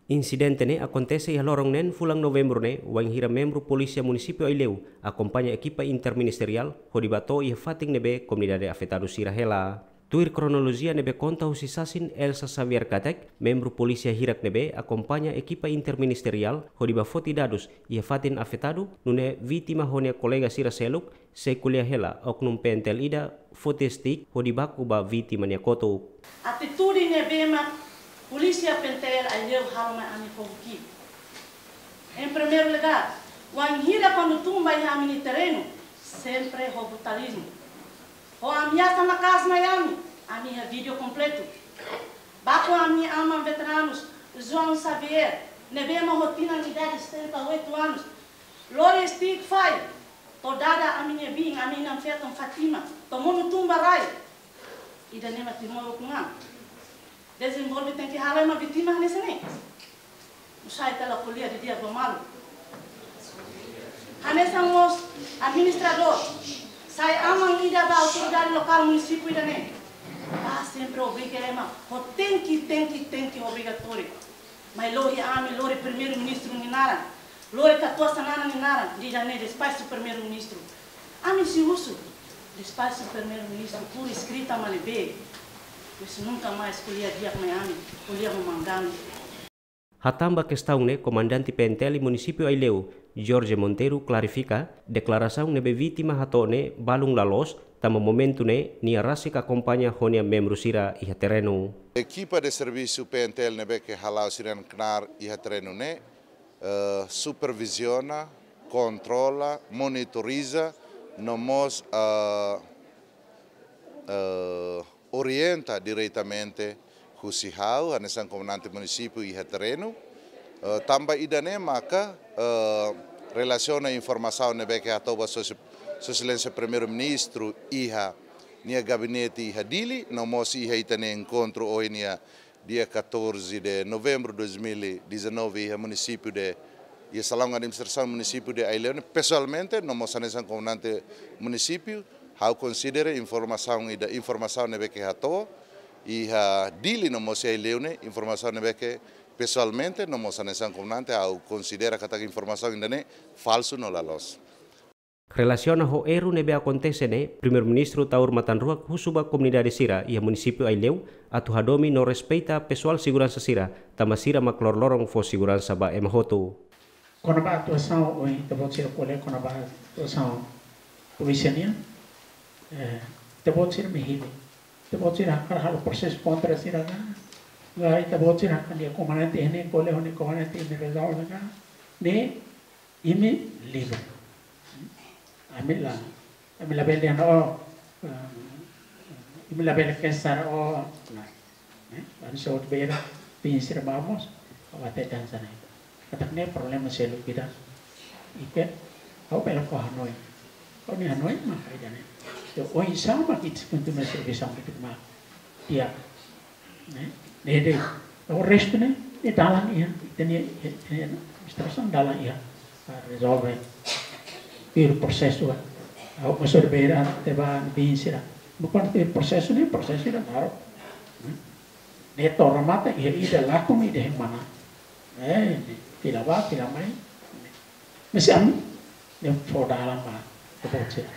Insidente ne'e akontese iha loron neen fulan Novembru ne'e, wainhira membru polísia munisípiu Aileu akompaña ekipa interministeriál hodi bá to'o iha fatin ne'ebé komunidade afetadu sira hela. Tuir kronolojia ne'ebé konta husi sasin Elsa Xavier katak, membru polísia hirak ne'ebé akompaña ekipa interministeriál hodi bá foti dadus iha fatin afetadu, nune'e vítima ho nia kolega sira seluk sei ko'alia hela oknum P N T L ida foti stick hodi baku ba vítima nia kotuk. Atitude ne'ebé mak polísia P N T L Aileu halo mai ami ho ki. Em primeiro lugar, wainhira kuandu tun ba iha ami-nia terrenu, sempre ho brutalizmu. Ho ameasa maka'as mai ami, ami iha vídeo kompletu. Baku ami-nia aman veteranus, João Xavier, ne'ebé mak ho tinan idade setenta e oito anos. Lori stick fai, to'o dada ami-nia biin, ami inan-feton Fátima, to'o monu tun ba rai. Ida-ne'e mak Timor ukun an. Dezenvolve tenke halo ema vítima hanesan ne'e. Nusá ita la ko'alia didi'ak ba malu. Hanesan mós administradór, sai aman ida ba autoridade lokál munisípiu ida-ne'e. Bá sempre obriga ema, ho tenke, tenke, tenke obrigatóriu. Mai lori ami, lori primeiru-ministru nia naran, lori katuas-xanana nia naran, dehan ne'e despaxu primeiru-ministru. Ami sei husu, despaxu primeiru-ministru, por escrita mak ne'ebé. Pois nunka mais ko'alia di'ak mai ami, ko'alia ho manggang. Hatán ba kestaun ne'e, komandante P N T L munisípiu Aileu, Jorge Monteiro, klarifika, deklarasaun ne'ebé vítima hato'o ne'e balun la loos, tanba momentu ne'e nia rasik akompaña ho nia membru sira iha terrenu. Ekipa de servisu P N T L ne'ebé ke hala'o sira-nia knaar iha terrenu ne'e, eh, superviziona, kontrola, monitoriza, no mós, eh, eh, orienta diretamente husi ha'u, hanesan komandante munisípiu iha terrenu. Eh, tanba ida-ne'e maka, eh, relasiona informasaun ne'ebé ke hato'o ba Sua, Sua Exelénsia Primeiru-Ministru iha nia gabinete iha Dili, no mós iha ita-nia enkontru ohin iha dia catorze de novembro de dois mil e dezanove iha munisípiu de, iha salaun administrasaun munisípiu de Aileu ne'e, pesoalmente, no mós hanesan komandante munisípiu, ha'u konsidera informasaun ida, informasaun ne'ebé ke hato'o iha Dili no mós iha Aileu ne'e, informasaun ne'ebé ke pesoalmente, no mós hanesan komandante, ha'u konsidera katak informasaun ida-ne'e falsu no la loos. Relasiona ho erru ne'ebé akontese ne'e, Primeiru-Ministru Taur Matan Ruak husu ba komunidade sira iha munisípiu Aileu atu hadomi no respeita pesoál seguransa sira, tanba sira mak loroloron fó seguransa ba ema hotu. Kona-ba atuasaun, ohin ita-boot sira ko'alia kona-ba atuasaun polísia nian, eh, ita-boot sira mak hili. Ita-boot sira hakarak halo prosesu kontra sira ka, ka ita-boot sira hakarak komandante ne'e ko'alia ho nia komandante ne'e rezolve ka, ne'e imi livre. Ami la, ami labele dehan, oh, eh, imi labele kesar, oh, lae. Eh, ami só beira, biin sira ba mós, ha'u hatete hanesan ne'e. Katak ne'e problema seluk ida. Ike, ha'u bele fó hanoin. Ha'u-nia hanoin mak ida-ne'e. Entaun, oinsá mak ita kontinua servisu mak ita mak. Di'ak. Ne'e? Ne'e de'it. O restu ne'e, ne'e dalan iha, ita-nia, ita-nia administrasaun dalan iha. Ah, rezolve. Tuir prosesu, ah. Ha'u mós só beira, te ba, biin sira. Bukan tuir prosesu ne'e, prosesu ida naruk. Hmm? Ne'e to'o remata, iha ida lakon, ida hemana. Eh, fila bá, fila mai. Mas ami, ne'e fó dalan ba, ita-boot sira.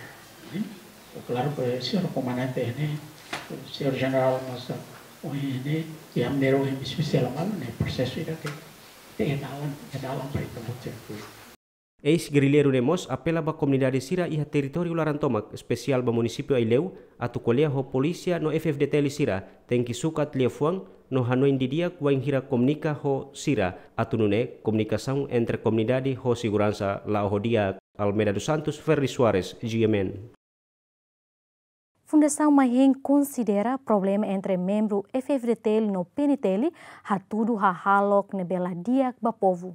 Hmm? Klaru ke señór komandante ne'e, señór jenerál mós, oh, ne'e, iha maneira ohin espesiál malu, ne'e prosesu ida ke, te dalan, te dalan para ita-boot sira. Eis-gerrilleiru ne'e mós apela ba komunidade sira iha territóriu laran tomak, espesiál ba munisípiu Aileu, atu ko'alia ho polísia no F-FDTL sira, tenke sukat liafuan, no hanoin didi'ak wainhira komunika ho sira, atu nune'e komunikasaun entre komunidade ho seguransa la'o ho di'ak. Almeida dos Santos, Ferri Soares, G M N. Fundasaun Maihen konsidera problema entre membru F-FDTL no P N T L hatudu hahalok ne'ebé la di'ak ba povu.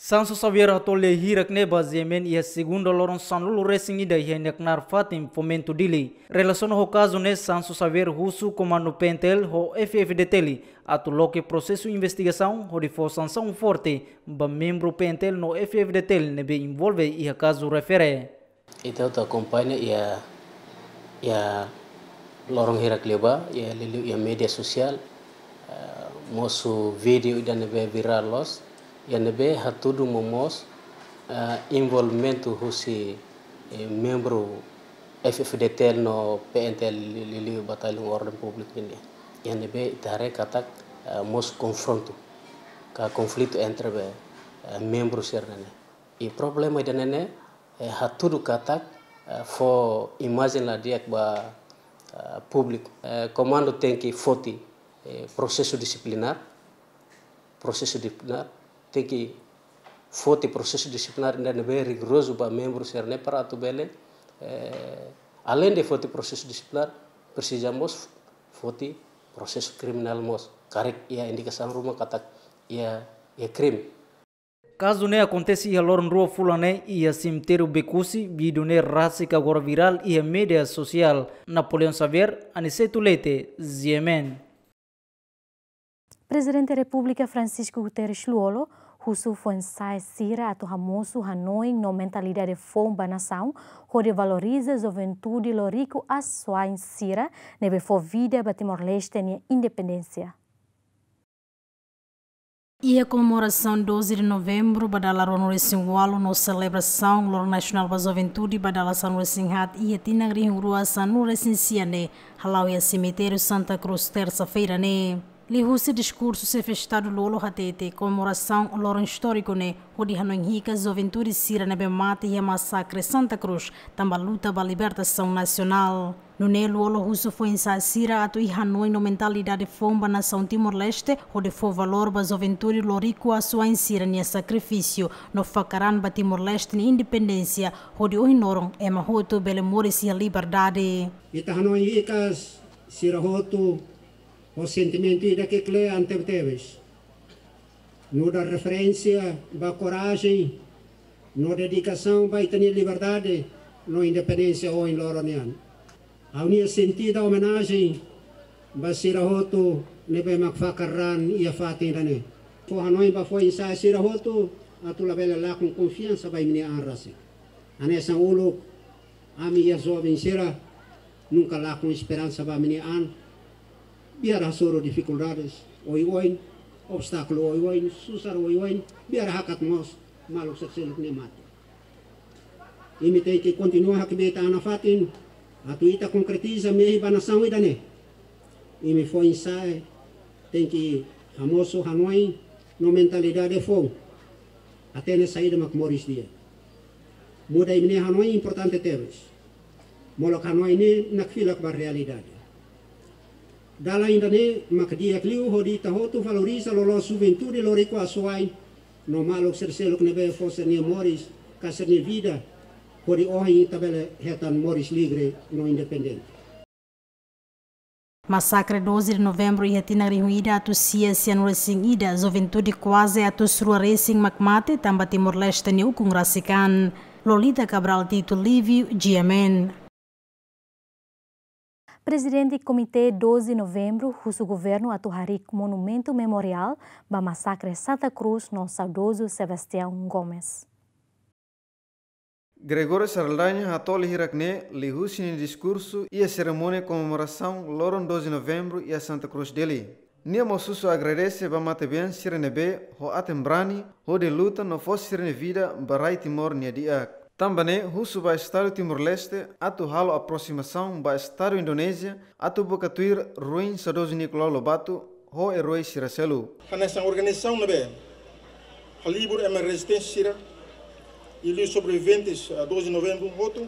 Sancho Xavier hato'o lia hirak ne'e ba G M N iha segunda loron sanulu-resin-ida iha nia knaar fatin Fomento Dili. Relasiona ho kazu ne'e, Sancho Xavier husu komandu P N T L ho F F D T L atu loke prosesu investigasaun hodi fó sansaun forte ba membru P N T L no F F D T L ne'ebé envolve iha kazu refere. Ita hotu akompaña iha, iha loron hirak liubá, iha liuliu iha média sosiál, eh, mosu vídeo ida ne'ebé virál loos, iha ne'ebé hatudu momoos, eh, envolvimentu husi, eh, membru F F D T L no P N T L liuliu Bataillon Orden Públiku nian. Iha ne'ebé ita haree katak, eh, mosu konfrontu, ka konflitu entre be, eh, membru sira-ne'e. I problema ida-ne'e ne'e, eh, hatudu katak, eh, fó imajen la di'ak ba, eh, públiku. Eh, komandu tenke foti, eh, prosesu disiplinár, prosesu disiplinár, tenke foti prosesu disiplinár ida ne'ebé rigorozu ba membru sira-ne'e para atu bele, eh, aleinde foti prosesu disiplinár, presiza mós foti prosesu kriminál mós. Karik iha indikasaun ruma katak iha, iha krime. Kazu ne'e akontese iha loron rua fulan ne'e iha semitériu Becusse, vídeo ne'e rasik agora virál iha média sosiál. Napoleão Xavier, Aniceto Leite, G M N. Prezidente Repúblika Francisco Guterres Lú-Olo husu foin-sa'e sira atu hamosu hanoin no mentalidade foun ba nasaun, hodi valoriza juventude loriku asuwa'in sira ne'ebé fó vida ba Timor-Leste nia independénsia. Iha komemorasaun doze de Novembru ba dala ruanulu-resin-ualu no selebrasaun Loron Nasionál ba Juventude ba dala sanulu-resin-haat iha tinan rihun rua sanulu-resin-sia ne'e hala'o iha semitériu Santa Cruz, tersa-feira ne'e. Liuhusi diskursu, Xefe Estadu Lú-Olo hatete komemorasaun loron istóriku ne'e hodi hanoin hikas juventude sira ne'ebé mate iha masakre Santa Cruz, tanba luta ba libertasaun nasionál. Nune'e Lú-Olo husu foin-sa'e sira atu iha hanoin no mentalidade foun ba nasaun Timor-Leste, hodi fó valór ba juventude loriku asuwa'in sira-nia sakrifísiu no fakar an ba Timor-Leste nia independénsia, hodi ohin loron ema hotu bele moris iha liberdade. Ita hanoin hikas sira hotu ho sentimentu ida ke kle'an tebetebes. Nu'udar referénsia ba korajen no dedikasaun ba ita-nia liberdade no independénsia ohin loron nian. Ha'u-nia sentida omenajen ba sira hotu ne'ebé mak fakar an iha fatin ida-ne'e. Fó hanoin ba foin-sa'e sira hotu atu labele lakon konfiansa ba imi-nia an rasik. Hanesan uluk, ami iha joven sira nunka lakon esperansa ba ami-nia an. Biar hasoru difikuldades oioin, obstákulu oioin, susar oioin, biar hakat mós maluk sira seluk nia mate. Imi tenke kontinua hakbiit an nafatin, atu ita konkretiza mehi ba nasaun ida-ne'e. Imi foin-sa'e tenke hamosu hanoin no mentalidade foun. Hatene saida mak moris di'ak. Muda imi-nia hanoin importante tebes. Molok hanoin ne'e nakfilak ba realidade. Dalan ida-ne'e mak di'ak liu hodi ita hotu valoriza loloos juventude loriku asuwa'in no maluk sira seluk ne'ebé fó sira-nia moris ka sira-nia vida hodi ohin ita bele hetan moris livre no independente. Masakre doze de Novembru iha tinan rihun ida atus sia sianulu-resin-ida, juventude kuaze atus rua resin mak mate tanba Timor-Leste nia ukun rasik an. Lolita Cabral Tito Livio, G M N. Prezidente Komité doze Novembru husu governu atu harii monumentu memoriál ba masakre Santa Cruz no saudozu Sebastião Gomes. Gregório Saraldaña hato'o lia hirak ne'e liuhusi nia diskursu iha serimónia komemorasaun loron doze Novembru iha Santa Cruz, Dili. Nia mós husu agradese ba matebian sira ne'ebé ho aten brani hodi luta no fó sira-nia vida ba rai Timor nia di'ak. Tanba ne'e husu ba Estadu Timor-Leste atu halo aprosimasaun ba Estadu Indonézia atu buka tuir ruin saudozu Nicolau Lobato ho erói sira seluk. Hanesan organizasaun ne'ebé halibur ema rezisténsia sira, liuliu sobreviventes, ah, doze Novembru hotu,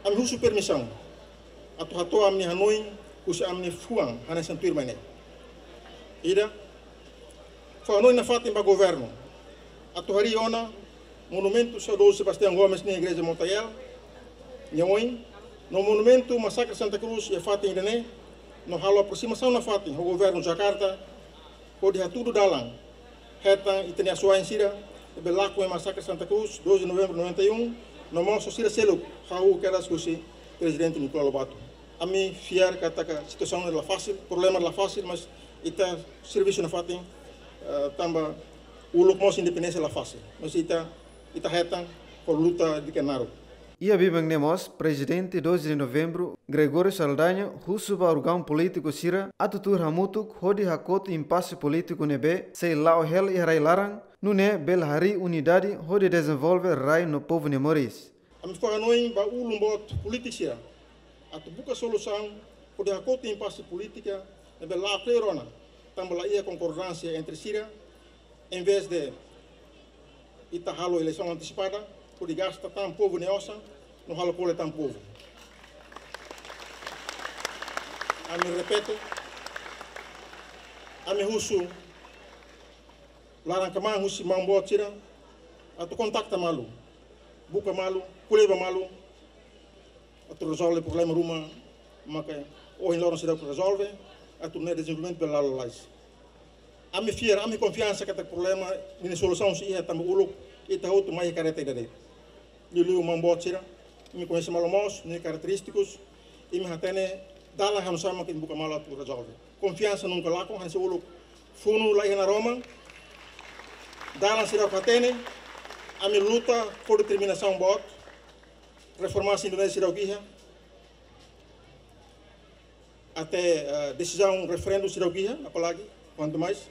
ami husu permisaun atu hato'o ami-nia hanoin husi ami-nia fuan hanesan tuirmai ne'e. Ida, fó hanoin nafatin ba governu atu harii ona monumentu saudozu Sebastião Gomes nia igreja Motael nia oin, no monumentu masakre Santa Cruz iha fatin ida-ne'e, no halo aprosimasaun nafatin ho governu Jakarta hodi hatudu dalan hetan ita-nia asuwa'in sira ne'ebé lakon iha Masakre Santa Cruz, doze de Novembro noventa e um, no mós sira seluk hahú kedas husi Prezidente Nicolau Lobato. Ami fiar katak situasaun la fasil, problema la fasil, mas ita servisu nafatin, eh, tanba uluk mós independénsia la fasil. Mas ita, ita hetan ho luta di'ak liu. Iha biban ne'e mós, Prezidente doze de Novembro, Gregório Saldanha, husu ba órgaun polítiku sira atu tuur hamutuk hodi hakotu impase polítiku ne'ebé sei la'o hela iha rai laran, nune'e bele harii unidade hodi dezenvolve rai no povu nia moris. Ami fó hanoin ba ulun boot polítiku sira atu buka solusaun hodi hakotu impase polítika ne'ebé la'o kleur ona, tanba la iha konkordánsia entre sira, em vez de ita halo eleisaun antesipada, hodi gasta tan povu nia osan, no halo kole tan povu. Ami repete, ami husu laran-kmaan husi maun boot sira atu kontakta malu, buka malu, ko'alia ba malu, atu rezolve problema ruma maka ohin loron seidauk rezolve, atu nune'e dezenvolvimentu bele la'o lalais. Ami fiar, ami konfiansa katak problema nia solusaun sei iha tanba uluk ita hotu mai kareta ida de'it. Liuliu maun boot sira, imi koñese malu mós nia karakterístikus, imi hatene dalan hanusá mak imi buka malu atu rezolve. Konfiansa nunka lakon, hanesan uluk funu la iha naroman, dalan seidauk hatene, ami luta ho determinasaun boot, reforma Indonézia seidauk iha, até, eh, desizaun referendu seidauk iha, apalagi, kuantu mais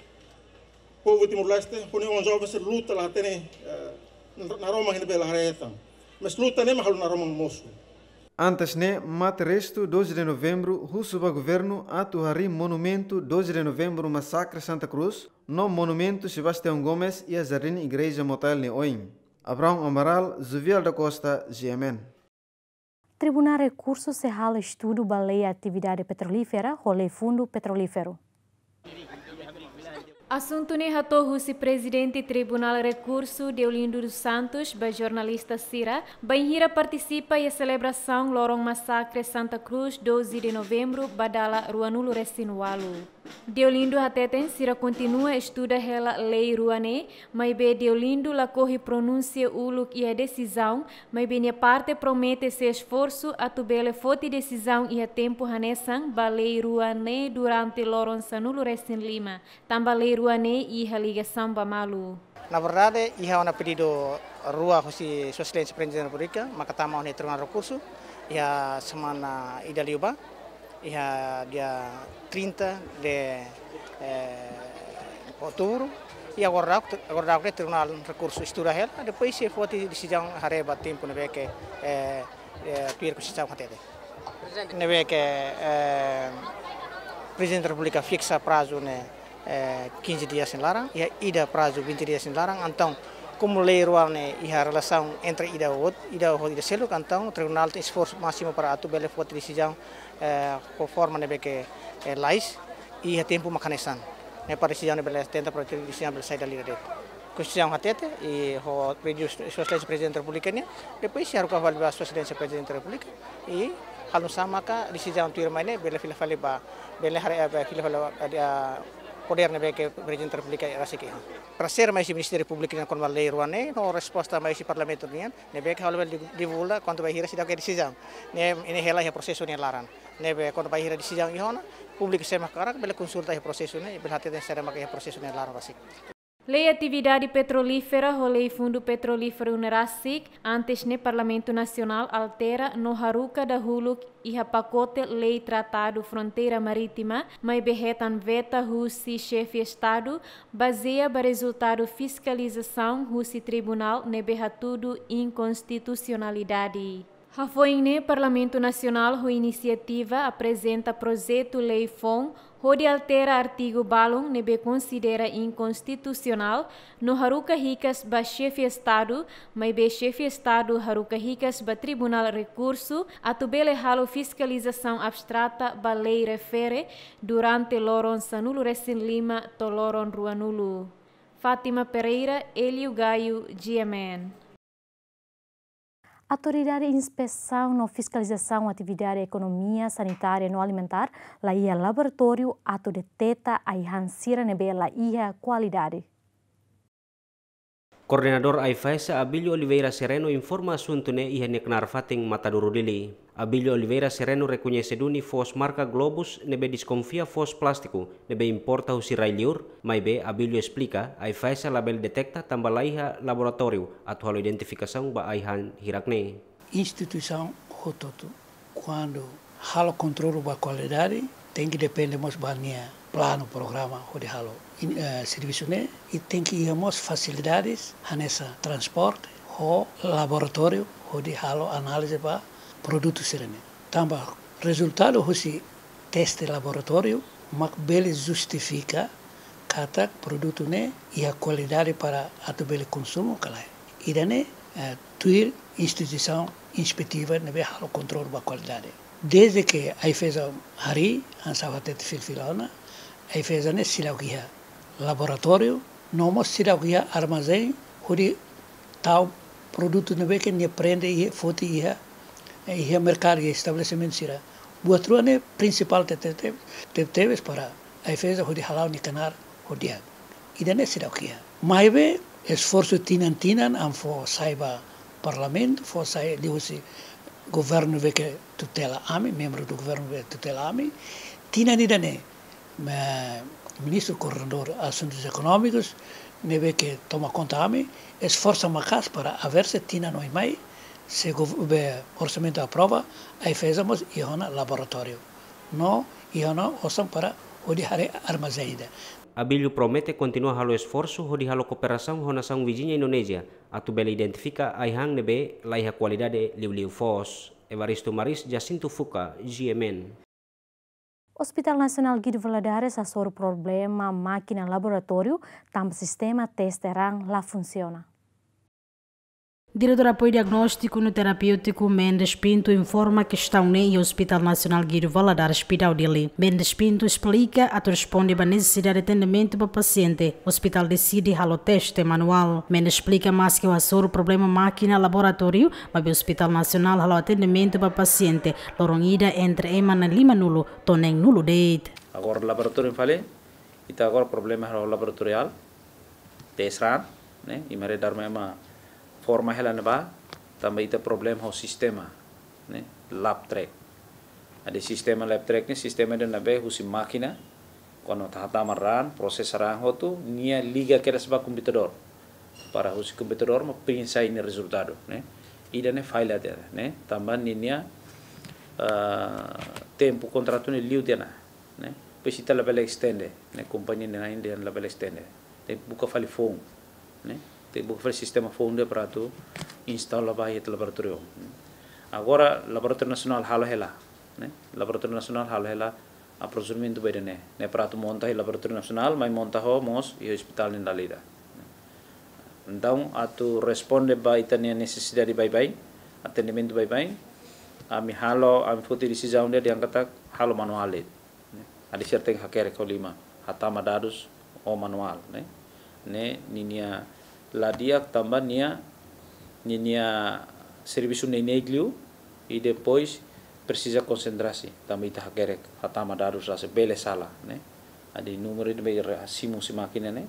povu Timor-Leste, ho nia oan joven sira luta la hatene, eh, naroman ne'ebé la haree hetan. Mas luta ne'e mak halo naroman mosu. Antes ne'e, Mate Restu doze de Novembro husu ba governu atu harii monumentu doze de Novembro Masakre Santa Cruz, no monumentu Sebastião Gomes iha Jardín Igreja Motael nia oin. Abraão Amaral, Juvial da Costa, G M N. Tribunál Rekursu sei halo estudu ba lei atividade petrolífera ho lei fundu petrolíferu. Asuntu ne'e hato'o husi Prezidente Tribunál Rekursu, Deolindo dos Santos, ba jornalista sira, bainhira partisipa iha selebrasaun loron Masakre Santa Cruz, doze de Novembro, ba dala ruanulu-resin-ualu. Deolindo hateten sira kontinua estuda hela lei rua ne'e, maibé Deolindo lakohi pronunsia uluk iha desizaun, maibé nia parte promete sei esforsu atu bele foti desizaun iha tempu hanesan ba lei rua ne'e durante loron sanulu-resin-lima, tanba lei rua ne'e iha ligasaun ba malu. Na verdade, iha ona pedidu rua husi Sua Exelénsia Prezidente da Repúblika, maka tama ona iha Tribunál Rekursu, iha semana ida liubá, iha dia trinta de, eh, outubro, i agora daudauk, agora daudauk ne'e Tribunál Rekursu estuda hela, depois sei foti desizaun haree ba tempu ne'ebé ke, eh, eh, tuir Konstituisaun hatete. Ne'ebé ke, eh, Prezidente da Repúblika fiksa prazu ne'e, eh, quinze dias nia laran, iha ida prazu vinte dias nia laran. Entaun, komu lei rua ne'e iha relasaun entre ida ho, ida ho ida seluk, entaun tribunál tenke esforsu másimu para atu bele foti desizaun, eh, konforme ne'ebé ke, eh, lalais, i iha tempu mak hanesan. Ne'e para desizaun ne'e bele tenta para desizaun bele sai dala ida de'it. Konstituisaun hatete, i ho pedidu Sua Exelénsia Prezidente da Repúblika nian, depois sei haruka fali ba Sua Exelénsia Prezidente da Repúblika, i halo nu'usá maka desizaun tuirmai ne'e bele fila fali ba, bele haree, eh, bele fila fali ba, eh, podér ne'ebé ke Prezidente da Repúblika rasik iha. Paresér mai husi Ministériu Públiku nian kona-ba lei rua ne'e, no resposta mai husi Parlamentu nian, ne'ebé ke ha'u labele di-, divulga kuandu bainhira seidauk iha desizaun. Ne'e, ne'e hela iha prosesu nia laran. Ne'ebé kuandu bainhira desizaun iha ona, públiku sé mak hakarak bele konsulta iha prosesu ne'e, bele hateten saida mak iha prosesu nia laran rasik. Lei atividade petrolífera ho lei fundu petrolíferu ne'e rasik, antes ne'e Parlamentu Nasionál altera no haruka dahuluk iha pakote lei Tratadu Fronteira Marítima, maibé hetan veta husi Xefe Estadu, bazeia ba rezultadu fiskalizasaun husi tribunál ne'ebé hatudu inkonstitusionalidade. Hafoin ne'e Parlamentu Nasionál ho inisiativa aprezenta projetu lei foun hodi altera artigu balun ne'ebé konsidera inkonstitusionál no haruka hikas ba Xefe Estadu, maibé Xefe Estadu haruka hikas ba Tribunál Rekursu atu bele halo fiskalizasaun abstrata ba lei refere durante loron sanulu-resin-lima to'o loron ruanulu. Fátima Pereira, Hélio Gaio, G M N. Autoridade Inspesaun no Fiskalizasaun Atividade Ekonomia, Sanitária no Alimentár la iha laboratóriu atu deteta ai-han sira ne'ebé la iha kualidade. Koordenadór AIFAESA Abílio Oliveira Sereno informa asuntu ne'e iha nia knaar fatin Matadouro Dili. Abílio Oliveira Sereno rekoñese duni foos marka Globus ne'ebé deskonfia foos plástiku ne'ebé importa husi rai-liur, maibé Abílio esplika, AIFAESA labele deteta tanba laiha laboratóriu atu halo identifikasaun ba ai-han hirak ne'e. Instituisaun hotu-hotu, kuandu halo kontrolu ba kualidade, tenke depende mós ba nia planu, programa hodi halo in-, eh, servisu ne'e, i tenke iha mós fasilidades hanesan transporte ho laboratóriu hodi halo análize ba produtu sira-ne'e. Tanba rezultadu husi teste laboratóriu mak bele justifika katak produtu ne'e iha kualidade para atu bele konsumu ka lae. Ida-ne'e, eh, tuir instituisaun inspetiva ne'ebé halo kontrolu ba kualidade. Desde ke AIFAESA harii, hanesan ha'u hatete fila-fila ona, AIFAESA ne'e seidauk iha laboratóriu, no mós seidauk iha armazén hodi tau produtu ne'ebé ke nia prende iha, foti iha, iha merkadu, iha estabelesimentu sira. Buat rua ne'e prinsipál tebetebes, tebetebes para AIFAESA hodi hala'o nia knaar ho di'ak. Ida-ne'e seidauk iha. Maibé esforsu tinan-tinan ami fó sai ba Parlamentu, fó sai liuhusi governu ne'ebé ke tutela ami, membru do governu ne'ebé tutela ami. Tinan ida-ne'e, eh, Ministru Koordenadór Asuntus Ekonómikus ne'ebé ke toma konta ami, esforsa maka'as para averse tinan oin mai, se gov-, be orsamentu aprova, AIFAESA mós iha ona laboratóriu. No iha ona osan para hodi haree armazén ida. Abílio promete kontinua halo esforsu hodi halo kooperasaun ho nasaun viziña Indonézia, atu bele identifika ai-han ne'ebé laiha kualidade liuliu foos. Evaristo Maris, Jacinto Fuca, G M N. Hospital Nasionál Guido Valadares hasoru problema mákina laboratóriu, tanba sistema teste raan la funsiona. Diretór Apoiu Diagnóstiku no Terapéutiku Mendes Pinto informa kestaun ne'e iha Hospital Nasionál Guido Valadares, Pidau, Dili. Mendes Pinto esplika, atu responde ba nesesidade atendimentu ba pasiente, ospitál deside halo teste manuál. Mendes esplika, maske hasoru problema mákina laboratóriu, maibé Hospital Nasionál halo atendimentu ba pasiente loron ida entre ema na'in-lima-nulu to'o neen-nulu de'it. Agora laboratóriu fali, ita agora problema ho laboratoriál, teste raan, ne'e, i mare dar ema forma hela ne'ebá, tanba ita problema ho sistema, ne'e, lab track. Ida sistema lab track ne'e, sistema ida ne'ebé husi mákina, kuandu hatama raan, prosesa raan hotu, nia liga kedas ba komputadór. Para husi komputadór mak print sai nia rezultadu, ne'e. Ida-ne'e falla tiha, ne'e, tanba ninia, ah, tempu kontratu ne'e liu tiha ona, ne'e. Depois ita labele estende, ne'e, kompañia ne'e ainda labele estende. Tenke buka fali foun, ne'e. Tenke buka fali sistema foun ida para atu instala ba iha laboratóriu. Agora Laboratóriu Nasionál halo hela, ne'e. Laboratóriu Nasionál halo hela aprozuramentu ba ida-ne'e, ne'e, para atu monta iha Laboratóriu Nasionál, mai monta ho mós iha ospitál nia dala ida. Entaun, atu responde ba ita-nia nesesidade baibain, atendimentu baibain, ami halo, ami foti desizaun ida dehan katak halo manuál de'it, ne'e. Adi serteng hakerek ho liman, hatama dadus ho manuál, ne'e. Ne'e, ninia la di'ak tanba nia, ninia servisu ne'e neineik liu, i depois presiza konsentrasi, tanba ita hakerek, hatama dadus rasik bele sala, ne'e. Adi númeru ida be re-, simu husi mákina ne'e,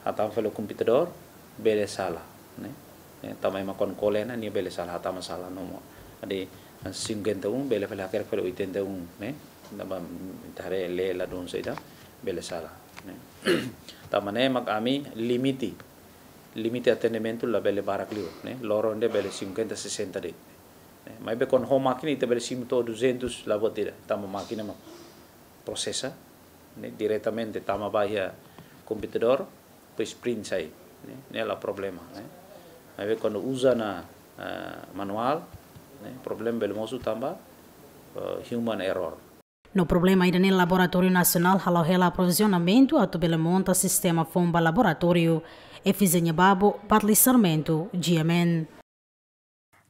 hatama fali komputadór, bele sala, ne'e. Ne'e, tanba ema kuandu kole ona, nia bele sala, hatama sala nomor. Adi, cinquenta e um, bele fali hakerek fali oitenta e um, ne'e. Tanba, mm, ita haree lee ladún saida, bele sala, ne'e. Tanba ne'e mak ami limite, limite atendimentu labele barak liu, ne'e. Loron ida bele cinquenta, sessenta de'it, ne'e. Maibé kuandu ho mákina ita bele simu to'o duzentus la buat ida, tanba mákina mak prosesa, ne'e, diretamente tama ba iha komputadór, depois print sai, ne'e, ne'e la problema, ne'e. Maibé kuandu uza ona, eh, manuál, ne'e, problema bele mosu tanba, eh, human error. No problema ida-ne'e Laboratóriu Nasionál halo hela aprovizionamentu atu bele monta sistema foun ba laboratóriu. Efizénia Babo, Bartli Sarmento, G M N.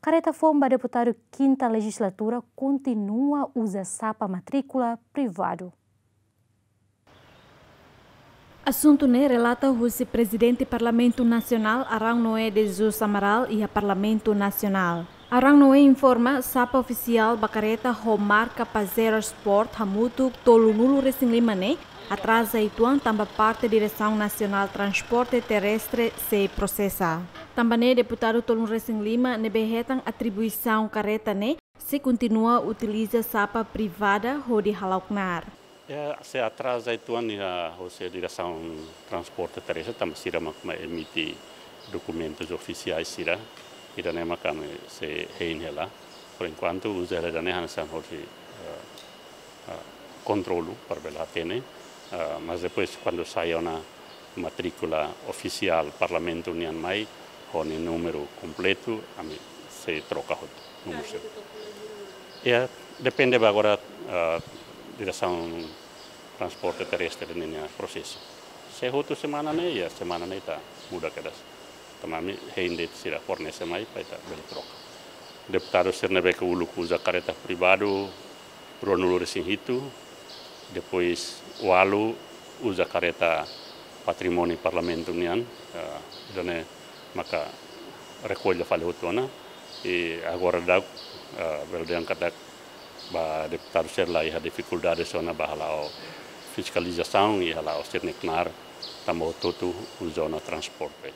Kareta foun ba deputadu kinta lejizlatura kontinua uza sapa matríkula privadu. Asuntu ne'e relata husi Prezidente Parlamentu Nasionál, Arão Noé de Jesus Amaral, iha Parlamentu Nasionál. Arão Noé informa, sapa ofisiál ba kareta ho marka Pajero Sport hamutuk tolunulu-resin-lima ne'e atraza uitoan tanba parte Diresaun Nasionál Transporte Terrestre sei prosesa. Tanba ne'e deputadu tolunulu-resin-lima ne'ebé hetan atribuisaun kareta ne'e sei kontinua utiliza sapa privada hodi hala'o knaar. Ya, sei atraza uitoan iha hosi Diresaun Transporte Terrestre tanba sira mak mai emite dokumentus ofisiais sira. Ida-ne'e mak ami sei hein hela. Por enkuantu uza hela ida-ne'e hanesan hodi, eh, eh, kontrolu para bele hatene. Eh, mas depois kuandu sai ona matríkula ofisiál Parlamentu nian mai, ho nia númeru kompletu, ami sei troka hotu númeru sira. Ya, depende ba agora, ah, Diresaun Transporte Terrestre ninia prosesu. Se hotu semana ne'e, ya semana ne'e ita muda kedas. Tanba ami hein de'it sira fornese mai para ita bele troka. Deputadu sira ne'ebé ke uluk uza kareta privadu, ruanulu-resin-hitu, depois ualu uza kareta patrimóniu Parlamentu nian, eh, ida-ne'e maka rekolla fali hotu ona, i agora daudaun, eh, bele dehan katak ba deputadu sira la iha difikuldade sira ona ba hala'o fiskalizasaun i hala'o sira-nia knaar tanba hotu-hotu uza ona transporte.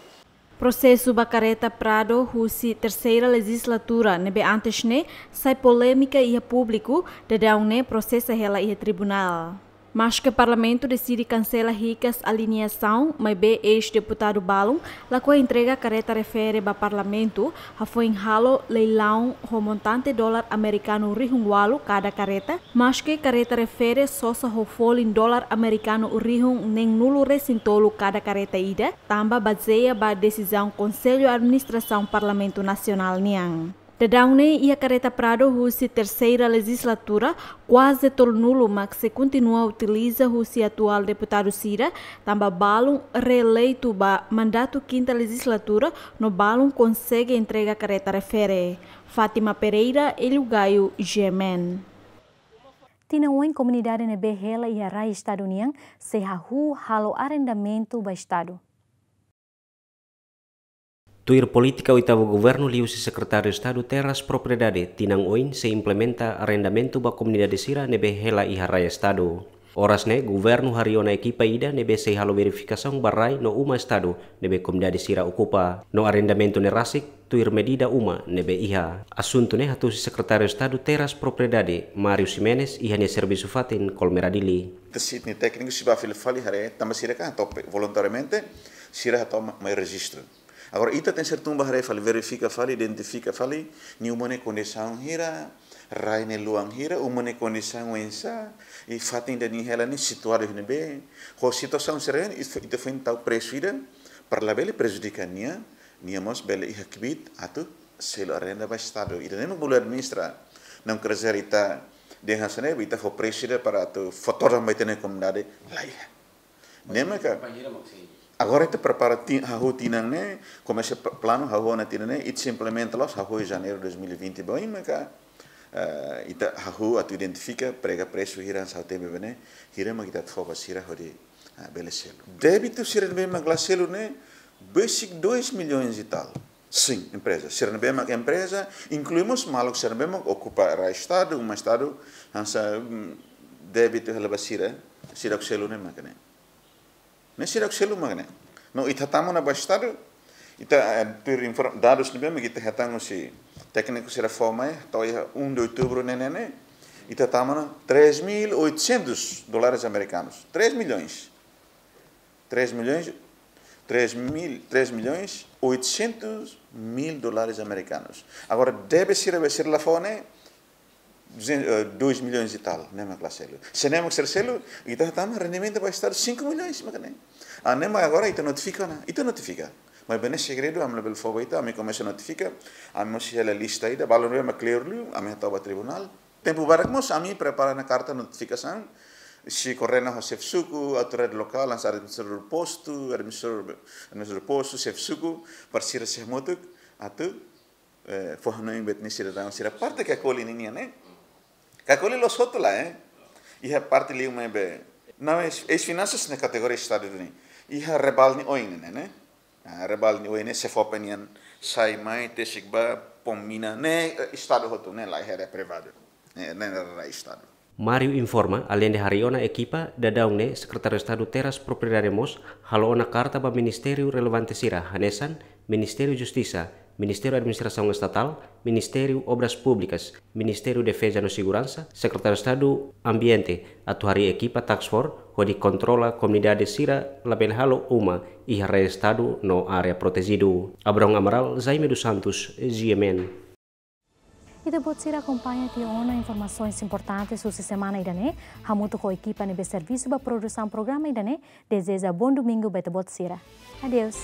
Prosesu ba kareta Prado husi terseira lejizlatura ne'ebé antes ne'e sai polémika iha públiku, daudaun ne'e prosesa hela iha tribunál. Maske Parlamentu deside kansela hikas alienasaun, maibé eis-deputadu balun lakohi entrega kareta refere ba Parlamentu, hafoin halo leilaun ho montante dolar amerikanu rihun ualu kada kareta, maske kareta refere sosa ho folin dolar amerikanu rihun neenulu-resin-tolu kada kareta ida, tanba bazeia ba desizaun Konsellu Administrasaun Parlamentu Nasionál nian. Daudaun ne'e iha kareta Prado husi terseira lejizlatura, kuaze tolunulu mak sei kontinua utiliza husi atuál deputadu sira, tanba balun reeleitu ba mandatu kinta lejizlatura, no balun konsege entrega kareta refere. Fátima Pereira, Elio Gaio, G M N. Tinan oin komunidade ne'ebé hela iha rai Estadu nian sei hahú halo arrendamentu ba Estadu. Tuir polítika oitavu governu liuhusi Sekretáriu Estadu Terras Propriedade, tinan oin sei implementa arrendamentu ba komunidade sira ne'ebé hela iha rai Estadu. Oras ne'e, governu harii ona ekipa ida ne'ebé sei halo verifikasaun ba rai no uma Estadu ne'ebé komunidade sira okupa. No arrendamentu ne'e rasik tuir medida uma ne'ebé iha. Asuntu ne'e hato'o husi Sekretáriu Estadu Terras Propriedade, Mário Ximenes, iha nia servisu fatin Colmera Dili. Ita sira-nia tékniku sei bá fila fali haree, tanba sira kan hato'o pe-, voluntariamente, sira hato'o ma-, mai rejista. Agora, ita tenke ser tun bá haree fali, verifika fali, identifika fali, nia uma ne'e kondisaun hira, rai ne'e luan hira, uma ne'e kondisaun oinsá, i fatin ida-ne'e hela ne'e situadu iha ne'ebé. Ho situasaun sira-ne'e, ita, ita foin tau presu ida, para labele prejudika nia, nia mós bele iha kbiit atu selu arrenda ba Estadu. Ita ne'e mak bolu administra, não quer dizer ita dehan hanesan ne'e, ita fó presu ida para atu fó todan ba ita-nia komunidade, la iha. Ne'e maka. Agora ita prepara ti-, hahú tinan ne'e, komesa p-, planu hahú ona tinan ne'e, ita sei implementa loos, hahú iha Janeiru dois mil e vinte ba oin maka, eh, ita hahú atu identifika, prega presu hira hanesan ha'u temi ba ne'e, hira mak ita atu fó ba sira hodi, ah, bele selu. Débitu sira ne'ebé mak la selu ne'e, besik dois milhões e tal. Sin, empreza. Sira ne'ebé mak empreza, inklui mós maluk sira ne'ebé mak okupa rai Estadu, uma Estadu, hanesan, mm, débitu hela ba sira, sira selu ne'e mak ne'e. Ne'e sira selu mak ne'e. No ita hatama ona ba Estadu, ita, eh, tuir inform-, dadus ne'ebé mak ita hetan husi tékniku sira fó mai, to'o iha um de outubro ne'e, ne'e, ne'e, ita hatama ona três mil oitocentos dólares americanos. Três milhões. Três milhões, três mil, três milhões oitocentos mil dólares americanos. Agora, debe sira, be sira la fó ne'e, duzentos, eh, dois milhões e tal, ne'e mak la selu. Se ne'e mak sira selu, ita hatama rendimentu ba Estadu cinco milhões, mak ne'e. Ah, ne'e mak agora ita notifika ona, ita notifika. Mas bene segredu, ami labele fó ba ita, ami komesa notifika, ami mós hela lista ida, balun ne'ebé mak klaru liu, ami hato'o ba tribunál. Tempu badak mós ami prepara ona karta notifikasaun, sei koordena ho xefe suku, autoridade lokál, hanesan administradór postu, administradór, administradór postu, xefe suku, para sira sei hamutuk, atu, eh, fó hanoin ba ita-nia sidadaun sira parte Cacoline nian, eh. Cacoline la'ós hotu lae, eh. Iha parte liu maibé. Não, eis, eis-finansas ne'e kategoria Estadu duni. Iha Rebalne oin ne'e, ne'e. Ah, Rebalne oin ne'e, SEFOPE nian sai mai, tesik ba, Pombina, ne'e, eh, Estadu hotu, ne'e la iha área privadu. Ne'e, ne'e, ne'e, ne'e Estadu. Mario informa, aleinde harii ona ekipa, daudaun ne'e Sekretáriu Estadu Terras Propriedade mós halo ona karta ba ministériu relevante sira, hanesan Ministériu Justisa, Ministériu Administrasaun Estatál, Ministériu Obras Públikas, Ministériu Defeza no Seguransa, Sekretáriu Estadu Ambiente, atu harii ekipa task force hodi kontrola komunidade sira labele halo uma iha rai Estadu no área protejidu. Abrão Amaral, Jaime dos Santos, G M N. Ita-boot sira akompaña tiha ona informasaun importante husi semana ida-ne'e, hamutuk ho ekipa ne'ebé servisu ba produsaun programa ida-ne'e, dezeja bom domingo ba ita-boot sira. Adeus.